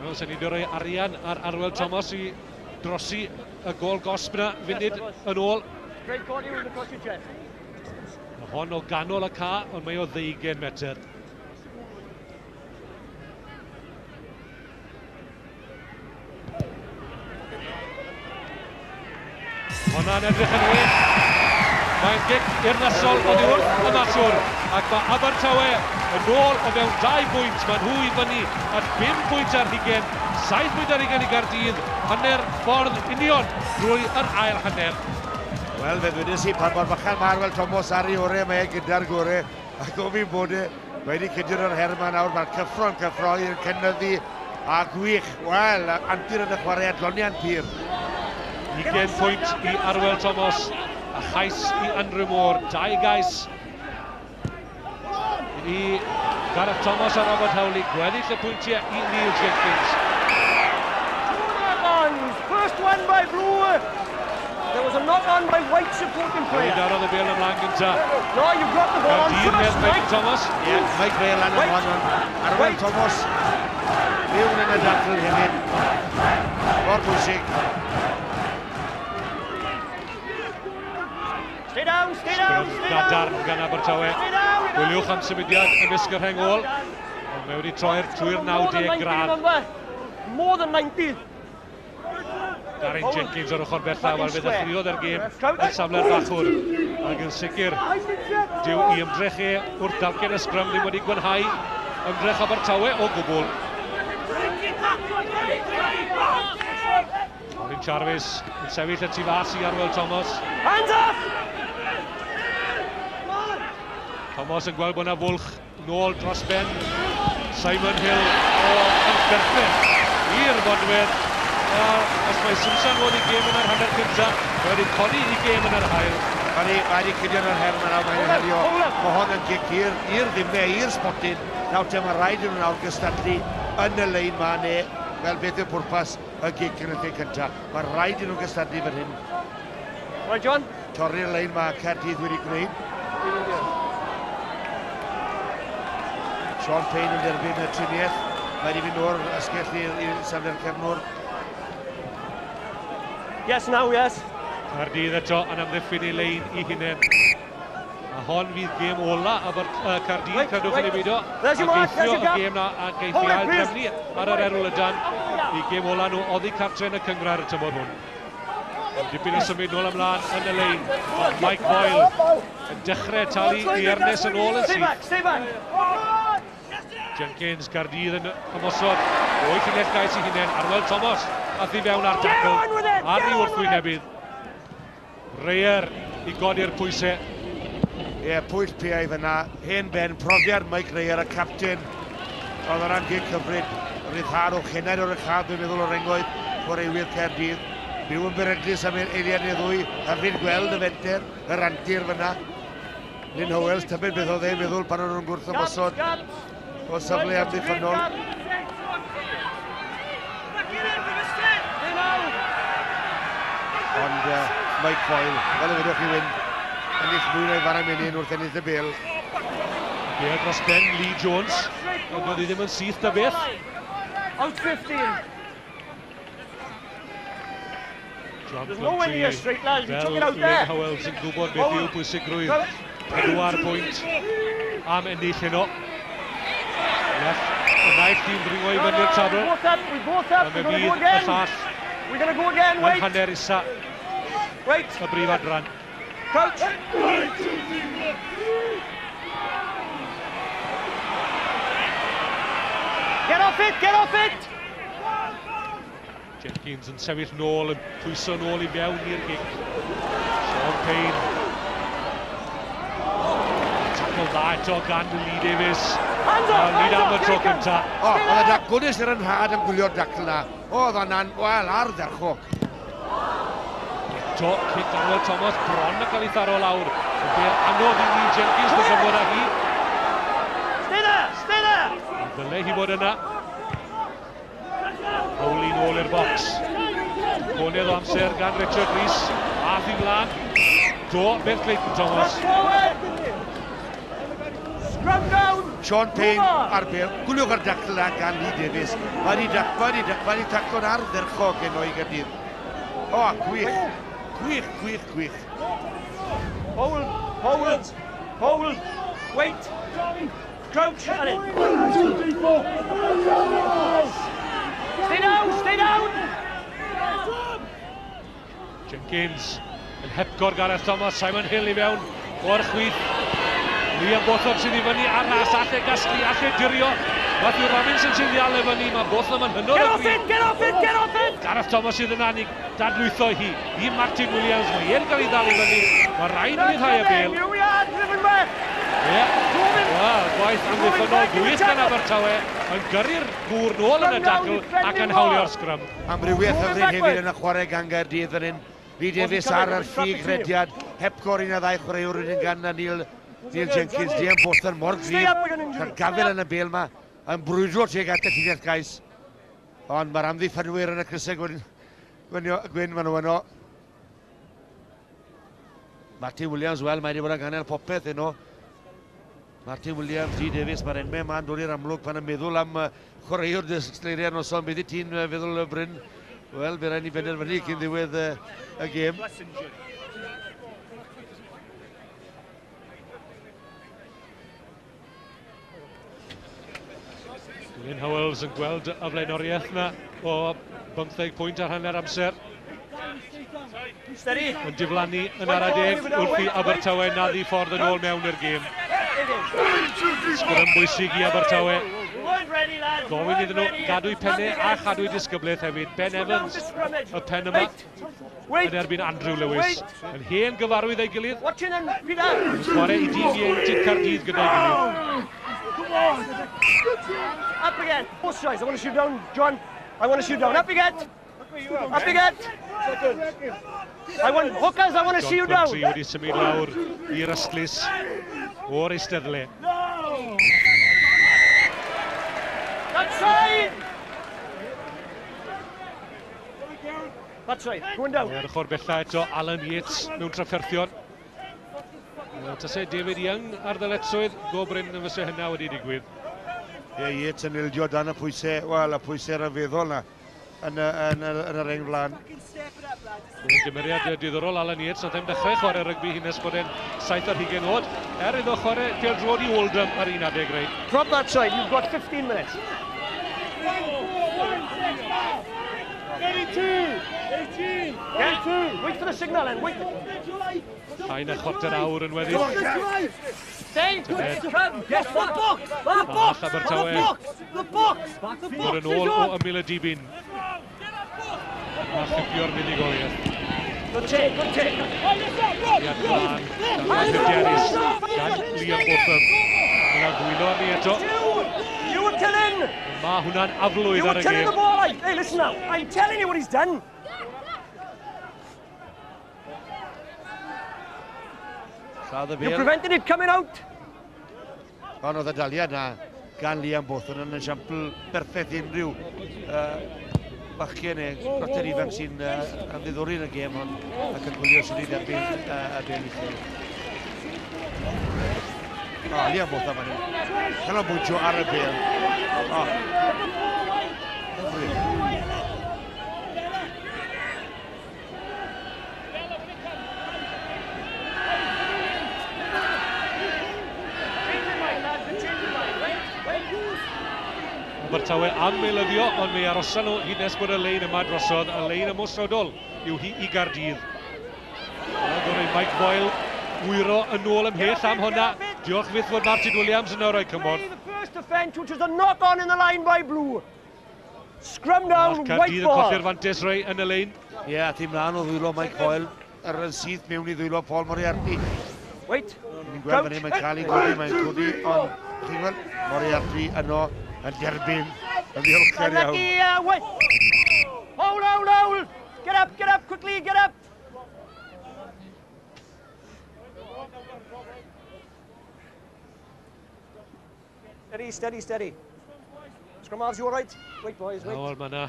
Wel, sy'n ni wedi rhoi arian ar Arwel Thomas i drosi y gôl gosb yna funud yn ôl. Mae hon o ganol y ca, ond mae o 20 metr. Hwna'n edrych yn wych. Mae'n gic urddasol oddi wrth y maswr, ac mae Abertawe yn ôl o fewn 2 bwynt. Mae nhw i fyny at 5 pwynt ar hugain, 7 pwynt ar hugain i Gaerdydd, hanner ffordd union drwy yr ail hanner. Wel, fe ddwedes i pan mor fychan mae Arwel Thomas ar ei orau, mae e gyda'r gorau, ac o fi'n bod e wedi cydio yr her yma nawr, mae'r cyffro'n cyffroi yn cynyddu a gwych. Wel, antur yn y chwarae, adloniant pur. 20 pwynt i Arwel Thomas, a chais i Andrew Moore, 2 gais i Gareth Thomas a Robert Howley, gweddill y pwyntiau i Neil Jenkins. First one by Blue. There was a knock on by White supporting player. Wedi darodd y bêl ymlaen gynta. No, you've got the ball on first, Mike. Thomas. Yeah, Mike Ray lan yn hon. Arwel Thomas, mewn yn y dacl hefyd. Mor bwysig. Stay down, stay down, stay down. Gadarn gan Abertawe. Gwyliwch am symudiad ymysg y rheng ôl. Ond mae wedi troi'r trwy'r 90 gradd. More than 90. Darren Jenkins o'r ochr bella, wel fe ddechreuodd yr gêm yn safle'r bachwr. Ac yn sicr, dyw i ymdrech e wrth dalcen y sgrym ddim wedi gwanhau ymdrech Abertawe o gwbl. Colin Jarvis yn sefyll y tu fas i Arwel Thomas. Hands off! Thomas yn gweld bod yna fwlch nôl dros ben. Simon Hill o yn berffaith i'r fodwedd. Os mae Simsan fod i gêm yn yr hanner cyntaf, mae wedi codi i gêm yn yr ail. Mae wedi cydio yn yr her yma nawr, mae'n herio. Mae hon yn gic i'r ddimau, i'r spotyn. Nawr te mae rhaid iddyn nhw nawr gystadlu yn y lein ma, neu fel beth yw pwrpas y gic yn y lle cyntaf. Mae rhaid iddyn nhw gystadlu fan hyn. Right, John? Torri'r lein ma Caerdydd wedi gwneud. Sean Payne yn derbyn y triniaeth. Mae wedi mynd o'r asgell i'r safle'r cefnwr. Yes, now, yes. Caerdydd eto yn amddiffyn ei lein i hunain. A hon fydd gêm ola Caerdydd, credwch yn ei beidio. A geithio y gêm na a geithio ail drefnu ar yr erwl ydan. I gêm ola nhw oddi cartre yn y cynghrair y tymor hwn. Dipyn o symud nôl ymlaen yn y lein. Mike Boyle yn dechrau talu i Ernest yn ôl yn syth. Jenkins, Caerdydd yn ymosod. O'i llinell gais i hunain, Arwel Thomas ath i fewn ar dacl, ar ei wrthwynebydd. Reyer i godi'r pwysau. Ie, pwyll piau fyna, hen ben, profiad Mike Reyer, y captain. Oedd yna'n gic hyfryd, ryddhad o chenaid o'r uchaf, dwi'n meddwl o'r rengoedd, chwaraewyr Caerdydd. Byw yn beryglus am eiliad neu ddwy, hyfryd gweld y fenter, yr antur fyna. Lynn Howells, tybed beth oedd e'n meddwl pan o'n nhw'n gwrth ymosod o safle amddiffynnol. Ond Mike Boyle, fel y fedrwch chi wyn, ennill mwy na'i fara menyn wrth ennill y bêl. Bêl dros ben Lee Jones, ond oedd hi ddim yn syth da beth. Out 15. John There's no way Plumtree, near straight, lads. You fel took it out Lynn there. Howells yn gwybod beth yw pwysigrwydd 4 pwynt am ennill heno. Y naill tîm ddringo i fyny'r tabl. A fe fydd y llall yn hanner isa y brif adran. Crouch! Get off it! Get off it! Jenkins yn sefyll nôl, yn pwyso nôl i mewn i'r gic. Sean Payne. Tackle dda eto gan Lee Davies. Hands off! Am y tro cynta. O, oedd y daclwys yr ynhad yn gwylio'r dacl na. Oedd hwnna'n, wel, ardderchog. Eto, cic Arwel Thomas bron yn cael ei tharo lawr. Yn bêl anodd i Lee Jenkins ddyfod â hi. Stay there! Stay there! Dyle hi fod yna. Howley nôl i'r bocs. Conedd o amser gan Richard Rees. Ath i mlaen. Do, beth Clayton Thomas. Scrum down! Sean Payne ar bêl. Gwylwch ar dacl na gan Lee Davies. Mae wedi taclo'n ardderchog heno i Gaerdydd. O, gwych. Gwych, gwych, gwych. Hold, hold, hold. Wait. Crouch and in. Stay down, stay down! Jenkins yn hepgor Gareth Thomas, Simon Hill i fewn o'r chwith. Liam Botham sydd i fyny ar ras, alle gasglu, alle dirio. Matthew Robinson sydd i ddal e fyny, mae Botham yn hynod o Get off it, get off it, get off it! Gareth Thomas sydd yna, ni dadlwytho hi i Martin Williams, mae e'n cael ei ddal i fyny. Mae rhaid i ryddhau y bêl. Here we are, driven back! Ie, wel, gwaith amddiffynnol gwych gan Abertawe yn gyrru'r gŵr nôl yn y dacl ac yn hawlio'r sgrym. Amrywiaeth hyfryd hefyd yn y chwarae gan Gaerdydd fan hyn. Lee Davies ar yr ffug rediad, hepgor un a ddau chwaraewr wedyn gan Neil Jenkins. Liam Botham mor gryf, cael gafel yn y bêl yma, yn brwydro tuag at y llinell gais. Ond mae'r amddiffynwyr yn y crysau gwyn maen nhw yno. Martin Williams, wel, mae wedi bod yn ganol popeth heno. Martin Williams, Lee Davies, mae'r enwau yma'n dod i'r amlwg pan yn meddwl am chwaraewr disgleiriau noson. Beth i ti'n feddwl, Bryn? Wel, fe rhaid ni benderfynu cyn ddiwedd y gêm. Glyn Howells yn gweld y flaenoriaeth yna o 15 pwynt ar hanner amser. Yn diflannu yn ara deg wrth i Abertawe naddu ffordd yn ôl mewn i'r gêm. Sgrym bwysig i Abertawe. Gofyn iddyn nhw gadw'u pennau a chadw'u disgyblaeth hefyd. Ben Evans, y pen yma, yn erbyn Andrew Lewis. Yn hen gyfarwydd ei gilydd. Chwarae i dîm ieuenctid Caerdydd gyda'i gilydd. Up again. Both sides. I want to shoot down, John. I want to shoot down. Up you get. Up you get. I want hookers, I want to see you down. John Plumtree wedi symud lawr i'r ystlys o'r eisteddle. That's right! That's right, going down. Ar ochr bella eto, Alan Yates mewn trafferthion. Tase David Young ar ddyletswydd, go brin yn fyse hynna wedi digwydd. Ie, Yates yn ildio dan y pwysau, wel, y pwysau rhyfeddol na yn yr reng flaen. Gymeriad diddorol Alan Yates, nath e'n dechrau chwarae rygbi hyn nes bod e'n 27 oed, er iddo chwarae pêl-droed i Oldham ar un adeg rei. Drop that side, you've got 15 minutes. 32, 18, 32. Wait for the signal then, wait. Llai na chwarter awr yn weddill. Stay, come, yes, the box, the box, the box, the box, the box. Yn ôl o ymyl y dibyn. A chipio'r fuddugoliaeth. Good take, good take. Iad mlaen, gan hyderus, gan Liam Botham. Yna ddwylo arni eto. You were killing! Mae hwnna'n aflwydd ar y gêm. You were killing the ball. Hey, listen now. I'm telling you what he's done. You prevented it coming out. Ond oedd y daliad na gan Liam Botham yn esiampl berffaith unrhyw bachgen neu chwarter ifanc sy'n ymddiddori yn y gêm hon ac yn gwylio sydd wedi derbyn y bêl uchel. O, Liam Botham fan hyn. Canolbwyntio ar y bêl. O, hyfryd. Abertawe am eilyddio, ond mi arosan nhw hyd nes bod y lein yma drosodd. Y lein ymosodol yw hi i Gaerdydd. Gorau Mike Boyle wyro yn ôl ymhell am hwnna. Diolch fyth fod Martin Williams yn rhoi cymorth. The first offence, which was a knock-on in the line by Blue. Scrum down, white ball. Caerdydd yn colli'r fantes rei yn y lein. Ie, a ti mlaen o ddwylo Mike Boyle ar yn syth mewn i ddwylo Paul Moriarty. Wait. Ni'n gweld fan hyn, mae'n cael ei godi, mae'n codi, ond chi'n gweld, Moriarty yno yn derbyn, yn ddiolchgar iawn. Wait. Hold, hold, hold. Get up, quickly, get up. Steady, steady, steady. Scrum halves, you all right? Wait, boys, wait. Nawr, mae yna...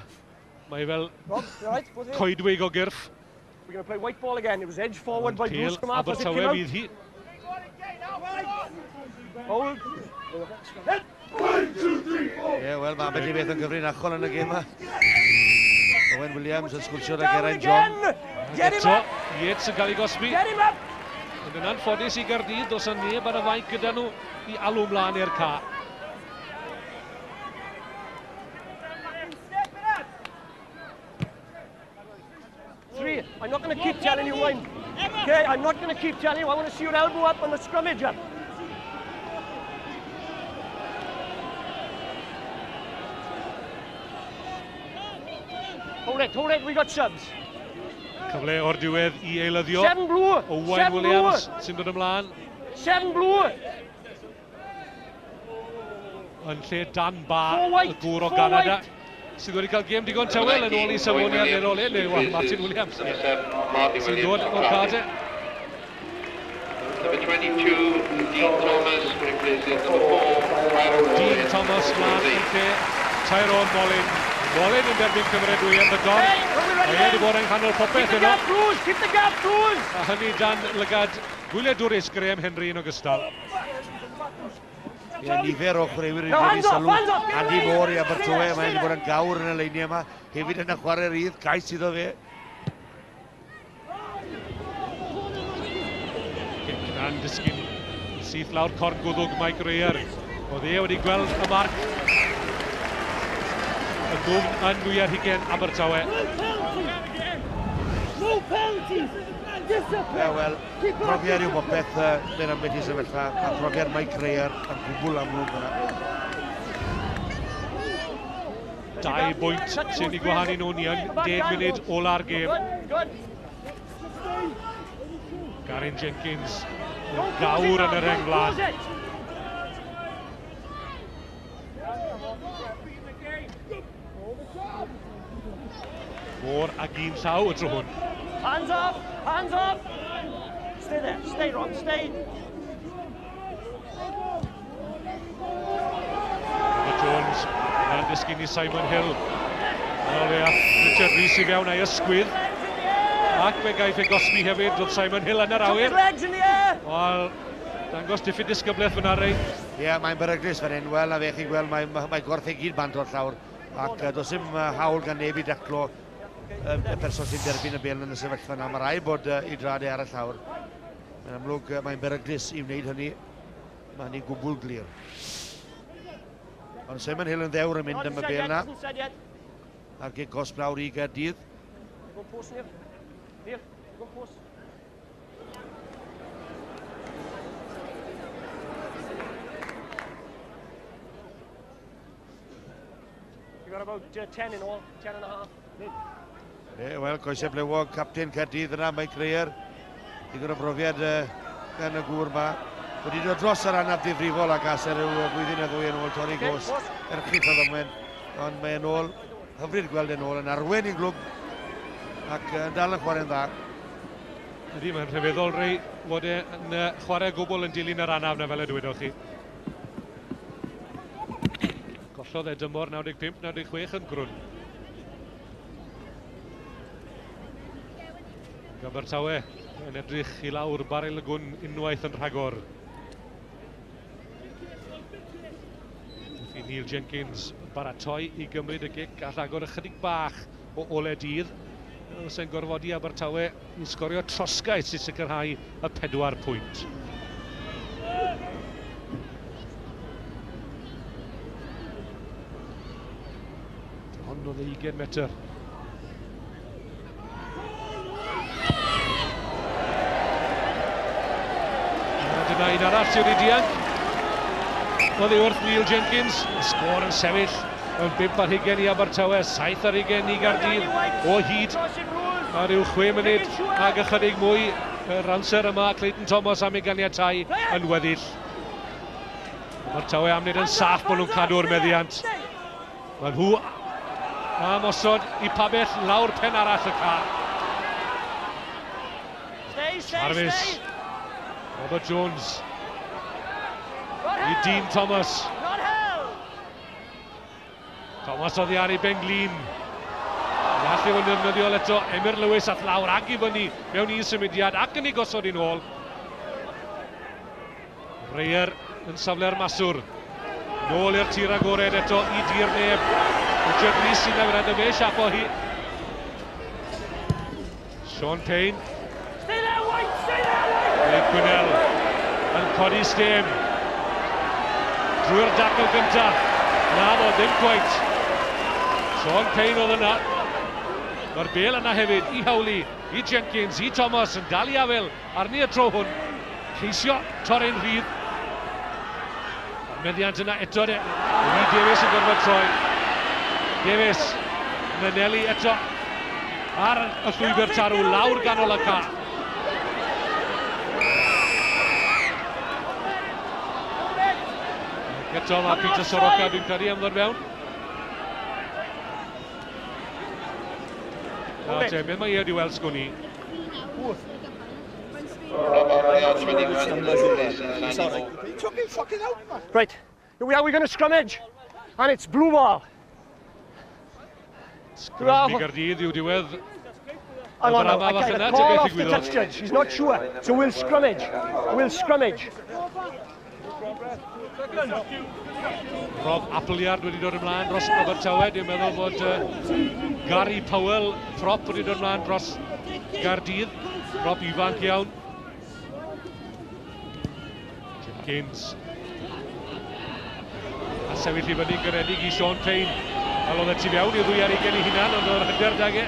Mae fel Rob, you all right? Both of you? coedwig o gyrff. We're going to play white ball again. It was edged forward by Blue Scrum half as it came Abertawe out. fydd hi. Hold. Ie, wel, mae ambell i beth yn gyfrinachol yn y gêm yma. Owen Williams yn sgwrsio â Down Geraint John. again! Get him Eto, up! Yates yn cael ei gosbi. Get him up! Ond yn anffodus i Gaerdydd, does yna neb ar y fainc gyda nhw i alw mlaen i'r ca. Step it up! Three. I'm not going to keep telling you when. Okay, I'm not going to keep telling you. I want to see your elbow up on the scrummage up. Hold it, we got subs. Cyfle o'r diwedd i eilyddio. Seven blue. Owen Seven Williams blue. sy'n dod ymlaen Seven blue. yn lle Dan Ba, Four y white. gŵr o Four Ganada, white. sydd wedi cael gêm digon tawel yn ôl i safoniad neu ôl e, neu wel, Martin Williams. Number 7, Martin Sy'n dod Williams. o'r Cardiff. cade. Number 22, Dean Thomas replaces number 4, Tyrone Dean Mollin. Thomas mlaen yn lle Tyrone Mollin. Mollin yn derbyn cymeradwyaeth y don. Hey, are we ready Mae e wedi then? bod yng nghanol Keep popeth the yno. gap, Blues! Keep the gap, Blues! A hynny dan lygad gwyliadwrus Graham Henry yn ogystal. Ie, nifer o chwaraewyr No, wedi hands off, sylw. hands off, get Andy away. Moore i Abertawe, Stay mae wedi there. bod yn gawr yn y leiniau yma. Hefyd yn y chwarae rydd, cais iddo fe. Cic na'n disgyn syth lawr corn gwddwg Mike Reyer. Oedd e wedi gweld y marc y dwfn yn 20 Abertawe. No penalties! Discipline! Ie, wel, profiad yw popeth mewn ambell i sefyllfa, a profiad Mike Reyer yn gwbl amlwg yna. 2 bwynt sy'n ei gwahanu nhw ni yn 10 munud ola'r gêm. Good, good. Garin Jenkins yn Don't close it gawr now, yn yr don't rheng flaen. close it. Môr ag un llaw y tro hwn. Hands off, hands off. Stay there, stay Rob, stay. Robert Jones yn disgyn i Simon Hill. Yn ôl e at Richard Rees i fewn a'i ysgwydd. Ac fe gaiff ei gosbi hefyd, roedd Simon Hill yn yr Took his awyr. legs in the air. Wel, dangos diffyg disgyblaeth fyna rei. Ie, mae'n beryglus fan hyn. Wel, a fe chi'n gweld, mae, mae gorff ei gyd bant o'r llawr. Ac does dim hawl gan neb i daclo y person sy'n derbyn y bêl yn y sefyllfa yna. Mae rhaid bod ei drad e ar y llawr. Mae'n amlwg, mae'n beryglus i wneud hynny. Mae hynny'n gwbl glir. Ond Simon Hill yn ddewr yn mynd Not am y said bêl yet, yna. hasn't said yet. A'r gic gosb lawr i Gaerdydd. Go post, Neil. Neil, go post. You got about 10 in all, 10 and a half. E, wel, coesau blewog, captain Caerdydd yna, Mike Reyer. Digon o brofiad gan y gŵr yma. Wedi dod dros yr anaf difrifol ac as er yw blwyddyn a ddwy yn ôl torri gos. Erchyll o ddamwen, ond mae yn ôl, hyfryd gweld yn ôl, yn arwen i glwb ac yn dal yn chwarae'n dda. Ydy, mae'n rhyfeddol rei fod e yn chwarae gwbl yn dilyn yr anaf na fel y dwedoch chi. Gollodd e dymor 95-96 yn grwn. Abertawe yn edrych i lawr baril y gwn unwaith yn rhagor. Wrth i Neil Jenkins baratoi i gymryd y gic all agor ychydig bach o ole dydd. Sy'n gorfodi Abertawe i sgorio trosgais i sicrhau y 4 pwynt. Hwn oedd 20 metr. Dyna un arall sydd wedi dianc. Oddi wrth Neil Jenkins. Y sgôr yn sefyll yn 5 ar 20 i Abertawe, 7 ar 20 i Gaerdydd o hyd. A ryw 6 munud ag ychydig mwy yr amser yma Clayton Thomas am ei ganiatau yn weddill. Abertawe am wneud yn saff bod nhw'n cadw'r meddiant. Mae nhw am osod i pabell lawr pen arall y cae. Jarvis. Robert Jones. I Dean Thomas. Thomas oddi ar ei ben glin. Gallu fod yn ddefnyddiol eto. Emyr Lewis at lawr ag i fyny mewn un symudiad ac yn ei gosod i'n ôl. Reyer yn safle'r maswr. Nôl i'r tir agored eto i dir neb. Richard Rees sy'n newid y fe siapo hi. Sean Payne. Stay there, White! Stay there, White! Dave Quinnell yn codi stêm. Drwy'r dacl gyntaf. Na fo, ddim quite. Sean Payne oedd yna. Mae'r bel yna hefyd i Howley, i Jenkins, i Thomas yn dal i afel arni y tro hwn. Ceisio torri'n rhydd. Meddiant yna eto de. Lee Davies yn gorfod troi. Davies yn anelu eto ar y llwybr tarw lawr ganol y cae. Eto mae Peter Soroka, dwi'n credu, am ddod fewn. Na te, beth mae e wedi weld sgwn i? Rob Appleyard, 21, replaces Andy Moore. Right, here we are, we're going to scrummage. And it's blue ball. Sgrym i Gaerdydd yw diwedd. Hang on now, I got a call off the touch judge. He's not sure. So we'll scrummage. We'll scrummage. Rob Appleyard wedi dod ymlaen dros Abertawe. Dwi'n meddwl bod Gary Powell, prop, wedi dod ymlaen dros Gaerdydd. Prop ifanc iawn. Jenkins. A sefyll i fyny'n garedig i Sean Payne. Wel, oedd e tu fewn i 22 i hunan, ond oedd hyder dag e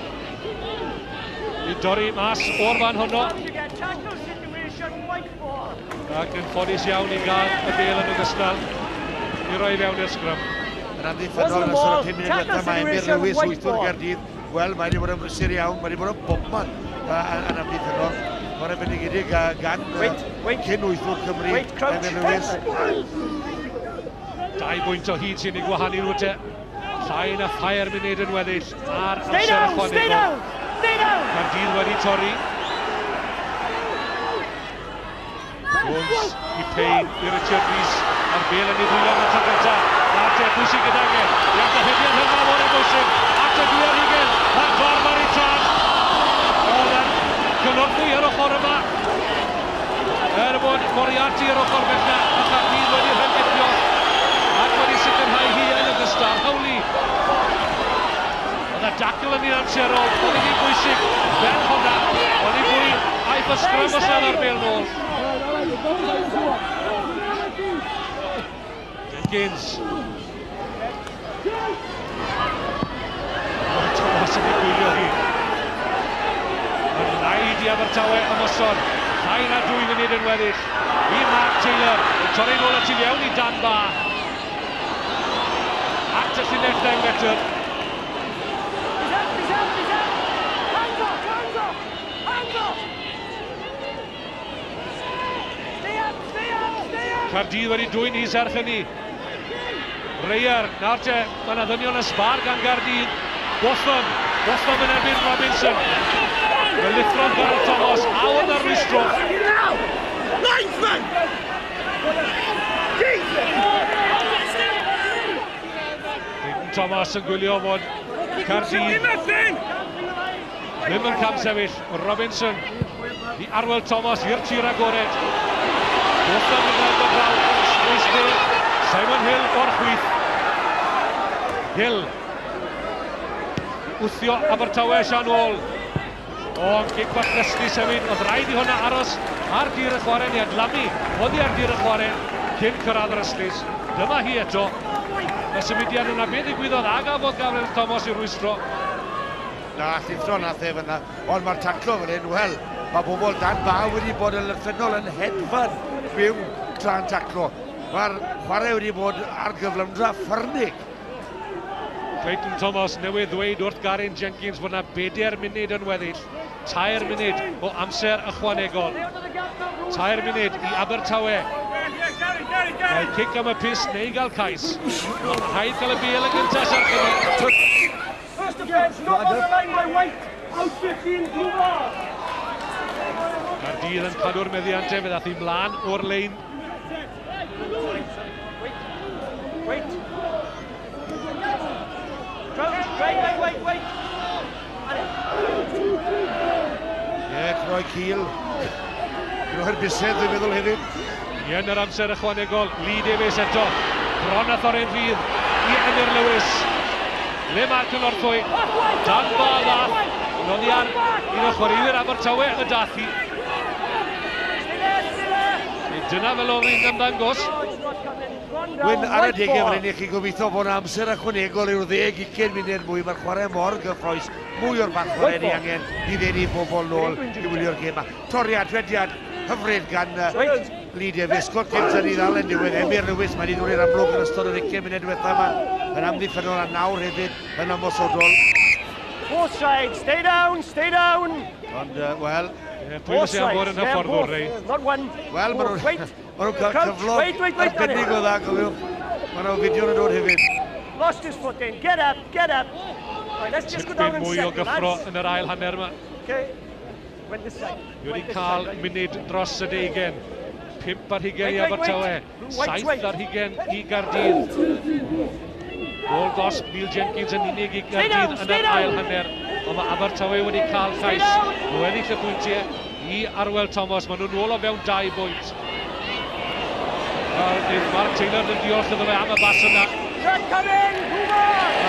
i dorri mas o'r fan honno. Ac yn ffodus iawn i gael y bel yn ogystal i roi fewn i'r sgrym. Yn amddiffynnol yn ystod y 5 munud diwethaf mae Emyr Lewis, wythwr Gaerdydd. Wel, mae wedi bod yn brysur iawn, mae wedi bod yn bobman yn amddiffynnol. Mae'n bendigedig gan cyn wythwr Cymru, Emyr Lewis. 2 bwynt o hyd sy'n ei gwahanu nhw te. Llai na 3 munud yn weddill ar amser ychwanegol. Caerdydd wedi torri. Jones i Payne, i Richard Rees, a'r bel yn ei ddwylo am y tro gyntaf. Na te, pwy sy'n gydag e? Iawn, hydiad hynna mor bwysig. At y 22, mae'r gorf ar ei traed. Oedd e'n cynorthwy ar ochr yma. Er bod Moriarty ar ochr bella, a Caerdydd wedi rhyngipio ac wedi sicrhau hi yn ogystal. Howley. Oedd y dacl yn un amserol, oedd hi'n bwysig fel hwnna. Oedd hi fwy aiff y sgrym os nad ar bel nôl. Jenkins. Thomas yn ei gwylio hi. Mae'n rhaid i Abertawe ymosod. Llai na 2 munud yn weddill. I Mark Taylor. Yn torri nôl at i fewn i Dan Ba. At y llinell 10 metr. He's up, he's up, he's up. Hands off, hands off, hands off. Stay up, stay up, stay up. Caerdydd wedi dwyn i serch hynny. Reyer, nawr te, mae yna ddynion y sbar gan Gaerdydd. Botham, Botham yn erbyn Robinson. Fe lithrodd Gareth Thomas, a oedd ar rwystro. Linesman! Jesus! Clayton Thomas yn gwylio fod Caerdydd ddim yn cam sefyll. Robinson i Arwel Thomas i'r tir agored. Botham yn gweld o draw, Simon Hill o'r chwith. Hill. Wthio Abertawe Sian ôl. O, cic bach ddysgu sefyd. Oedd rhaid i hwnna aros ar dir y chwarae neu adlamu oddi ar dir y chwarae cyn cyrraedd yr ystlys. Dyma hi eto. Y symudiad yna, beth ddigwyddodd a gafodd Gareth Thomas i rwystro. Na, llithro nath e fyna, ond mae'r taclo fan hyn, wel, mae bobl dan ba wedi bod yn lythrennol yn hedfan byw tra'n taclo. Mae'r chwarae wedi bod ar gyflymdra ffyrnig. Clayton Thomas newydd ddweud wrth Garin Jenkins fod yna 4 munud yn weddill. 3 munud o amser ychwanegol. 3 munud i Abertawe. Mae cic am y pys neu gael cais. Mae'n rhaid cael y bêl yn gyntaf serch hynny. First offence, not on the line by White. Out 15, blue bar. Caerdydd yn cadw'r meddiant fe ddath hi mlaen o'r lein. Wait, wait. Crouch, wait, wait, wait, wait. Ie, croi cil. Croi'r bysedd, dwi'n meddwl hefyd. Ie, yn yr amser ychwanegol, Lee Davies eto. Bron a thorri'n rhydd i Emyr Lewis. Le mae'r cynorthwy. Dan ba ddath. Noddi ar un o chwaraewyr Abertawe y dath hi. Dyna fel oedd hi'n ymddangos. Wyn, ar y degau fan hyn, chi'n gobeithio bod amser ychwanegol yw'r 10-20 munud mwy. Mae'r chwarae mor gyffrous, mwy o'r fath chwarae ni angen i ddenu bobl nôl i wylio'r gêm. Toriad, rediad hyfryd gan Lee Davies. Scott Gibson i ddal yn diwedd. Emyr Lewis, mae wedi dod i'r amlwg yn ystod yr 20 munud diwethaf yma. Yn amddiffynnol a nawr hefyd yn ymosodol. Both sides, stay down, stay down. Ond, wel... Pwy sy'n am fod yn hyfforddwr, Ray? Not one. Wel, maen nhw'n cael cyflog arbennig o dda, cofiwch. Mae nhw'n fideo yn dod hefyd. Lost his footing, get up, get up. Right, let's just go down and mwy o gyffro yn yr ail hanner yma. Okay. Went this side. Ni wedi cael munud dros y 20. 5 ar 20 i Abertawe, 7 ar 20 i Gaerdydd. Gôl gosb Neil Jenkins yn unig i Gaerdydd yn yr ail hanner. Ond mae Abertawe wedi cael cais. Nhw ennill y pwyntiau i Arwel Thomas. Maen nhw'n ôl o fewn 2 bwynt. Mark Taylor yn diolch iddo fe am y bas yna.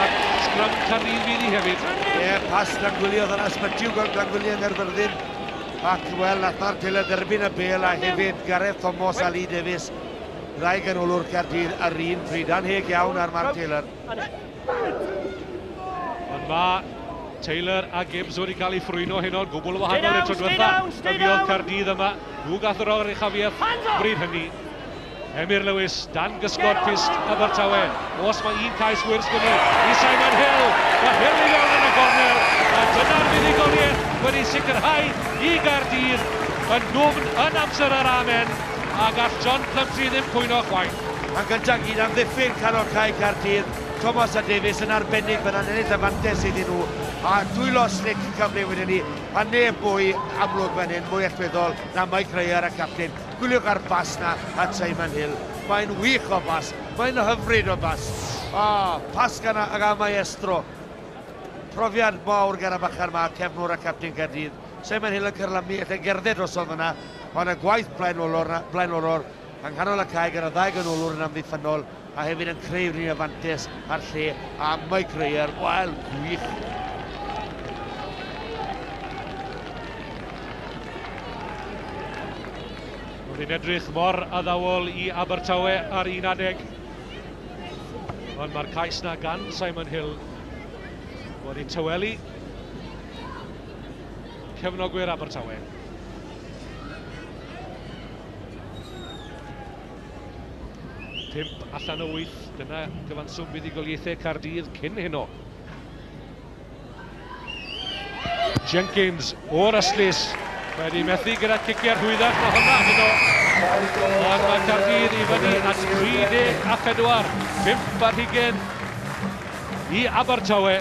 Ac sgrym Caerdydd fydd hi hefyd. Ie, pas Glangwili oedd yna, Sbytyw Glangwili yng Nghaerfyrddin. Ac wel, nath Mark Taylor dderbyn y bêl a hefyd Gareth Thomas a Lee Davies. Ddau ganolwr Caerdydd ar un pryd. Anheg iawn ar Mark Taylor. Ond mae Taylor a Gibbs wedi cael eu ffrwyno heno, gwbl wahanol i'r tro diwetha. Y fuodd Caerdydd yma, nhw gath yr oruchafiaeth bryd hynny. Emyr Lewis, dan gysgod pyst Abertawe. Os mae un cais wyrs gyda i Simon Hill. Mae Hill i fewn yn y gornel. A dyna'r fuddugoliaeth wedi sicrhau i Gaerdydd yn ddwfn yn amser yr amen. A gall John Plumtree ddim cwyno chwaith. Yn gyntaf gyd amddiffyn canol cae Caerdydd, Thomas a Davies yn arbennig fan ennill y fantes iddyn nhw. A dwylo slic cyfle wedyn ni, a neb mwy amlwg fan hyn, mwy allweddol na Mike Ryer a captain. Gwyliwch ar bas na at Simon Hill. Mae'n wych o bas, mae'n hyfryd o bas. Pas gan y maestro. Profiad mawr gan y bachar ma, cefnwr a captain Caerdydd. Simon Hill yn cyrlamu, allai gerdded drosodd fyna, ond y gwaith blaenorol yng nghanol y cae gan y ddau ganolwr yn amddiffynnol, a hefyd yn creu rhywun y fantes ar lle, a Mike Ryer, wel, gwych. Oedd hi'n edrych mor addawol i Abertawe ar un adeg. Ond mae'r cais na gan Simon Hill wedi tawelu cefnogwyr Abertawe. 5 allan o 8, dyna gyfanswm buddugoliaethau Caerdydd cyn heno. Jenkins o'r ystlys wedi methu gyda ciciau rhwyddach na hwnna heno. Ond mae Caerdydd i fyny at 34, 5 ar 20 i Abertawe.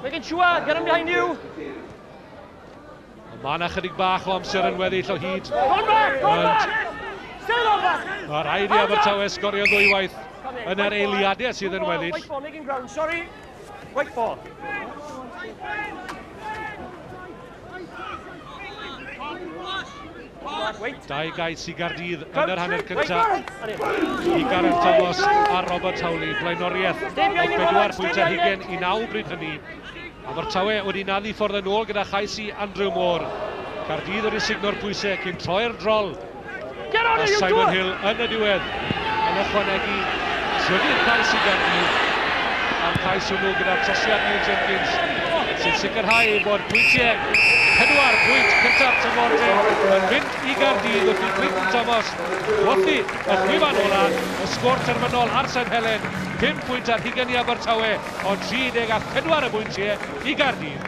Making sure, get him behind you. Mae yna chydig bach o amser yn weddill o hyd. Mae rhaid i Abertawe sgorio ddwywaith yn yr eiliadau sydd yn weddill. White ball, making ground, sorry. White ball. Dau gais i Gaerdydd yn yr hanner cyntaf i Gareth Thomas a Robert Howley. Blaenoriaeth o 4 pwynt ar hugain i 9 bryd hynny. Abertawe wedi naddu ffordd yn ôl gyda chais i Andrew Moore. Caerdydd wedi signo'r pwysau cyn troi'r drol. A Simon Hill yn y diwedd yn ychwanegu trydydd cais i Gaerdydd, a'r cais hwnnw gyda'r trosiad Neil Jenkins sy'n sicrhau bod pwyntiau 4 pwynt cyntaf tymor te yn mynd i Gaerdydd wrth i Clayton Thomas chwythu y chwifan ola, y sgôr terfynol ar Sain Helen, 5 pwynt ar hugain i Abertawe, ond 34 y bwyntiau i Gaerdydd.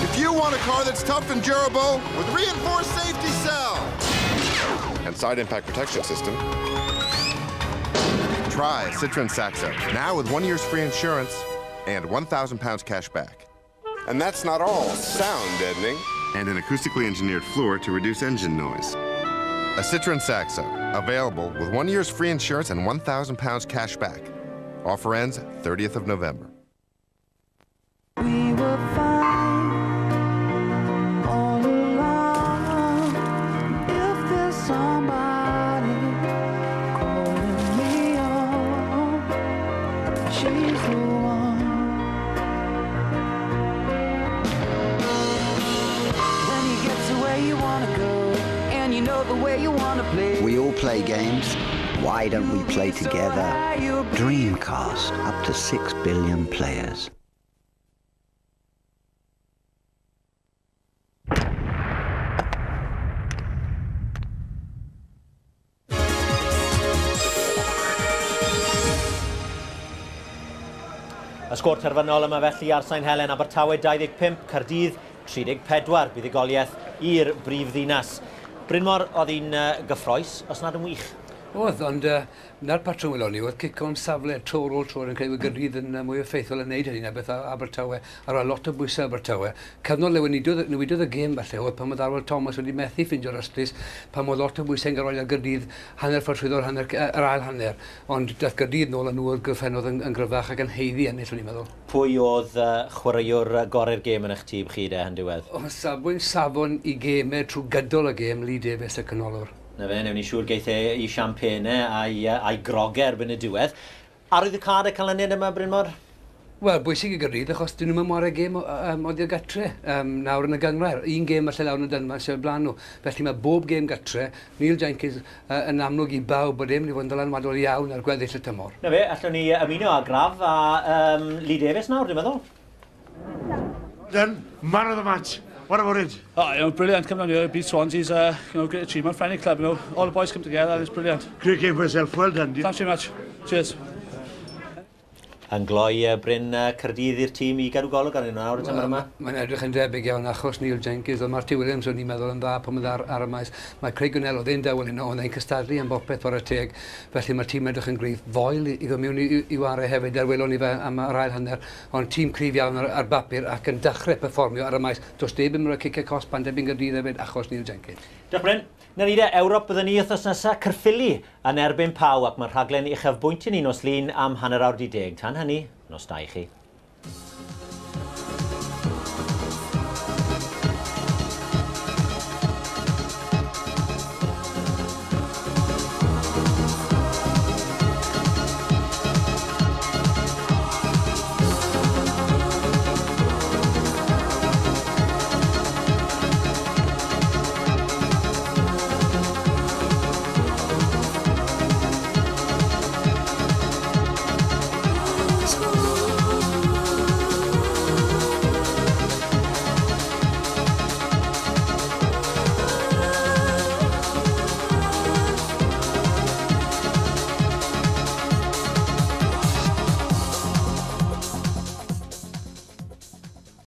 If you want a car that's tough and durable with reinforced safety cell and side impact protection system, try a Citroen Saxo, now with 1 year's free insurance and £1,000 cash back. And that's not all. Sound deadening and an acoustically engineered floor to reduce engine noise. A Citroen Saxo, available with 1 year's free insurance and £1,000 cash back. Offer ends 30th of November. We were fine all along. If there's somebody calling me on, she's the one. When you get to where you wanna go, and you know the way you wanna play. We all play games. Why don't we play together? Dreamcast, up to 6 billion players. Y sgôr terfynol yma felly ar Sain Helen, Abertawe 25, Caerdydd 34, buddugoliaeth i'r brif ddinas. Brynmor, oedd hi'n gyffroes, os nad yn wych? Oedd, ond na'r patrwm welon ni, oedd cico'n safle tro ar ôl tro yn credu bod Gaerdydd yn mwy effeithiol yn neud hynny na beth Abertawe, a rhoi lot o bwysau Abertawe. Cyfnod le newidodd y gêm falle oedd pan oedd Arwel Thomas wedi methu ffeindio'r ystlys, pan oedd lot o bwysau yn gael ar Gaerdydd hanner ffordd trwyddo'r hanner, yr ail hanner. Ond dath Gaerdydd nôl a nhw oedd gyffennodd yn gryfach ac yn haeddu ennill, o'n i'n meddwl. Pwy oedd chwaraewr gorau'r gêm yn eich tîm chi de yn diwedd? O, safbwynt safon i gemau trwy gydol y gêm, Lee Davies y canolwr. Na fe, newn ni siŵr geith e i siampene a'i grogau erbyn y diwedd. Arwyddocâd y canlyniad yma, Brynmor? Wel, bwysig i Gaerdydd, achos dyn nhw'm yn chwarae gêm oddi ar gatre nawr yn y gynghrair. Un gêm falle lawr yn y Dynfa sydd o'r blaen nhw. Felly mae bob gêm gatre, Neil Jenkins yn amlwg i bawb bod e'n mynd i fod yn ddylanwadol iawn ar gweddill y tymor. Na fe, allwn ni ymuno â Graf a Lee Davies nawr, dwi'n meddwl. Then, man of the match. What about it? Oh, you know, brilliant coming down here, beat Swansea's, you know, great achievement for any club, you know. All the boys come together and it's brilliant. Great game for yourself, well done. Thanks very much. Cheers. Yn gloi Bryn Caerdydd i'r tîm i gadw golwg arnyn nhw nawr y tymor yma? Mae'n edrych yn debyg iawn achos Neil Jenkins, oedd Marty Williams o'n i'n meddwl yn dda pan oedd ar y maes. Mae Craig Gwynell oedd e'n dawel heno, ond e'n cystadlu am bopeth chwarae teg. Felly mae'r tîm edrych yn gryf. Foel i ddod mewn i ware hefyd, er welon ni fe am yr ail hanner. Ond tîm cryf iawn ar bapur ac yn dechrau perfformio ar y maes. Does neb yn rhoi ciciau cosb pan debyg Gaerdydd hefyd achos Neil Jenkins. Diolch Bryn. Na ni de, Ewrop byddwn ni wythnos nesaf, Caerffili yn erbyn Pau, ac mae'r rhaglen uchafbwynt i ni nos Lun am 10:30. Tan hynny, nos da i chi.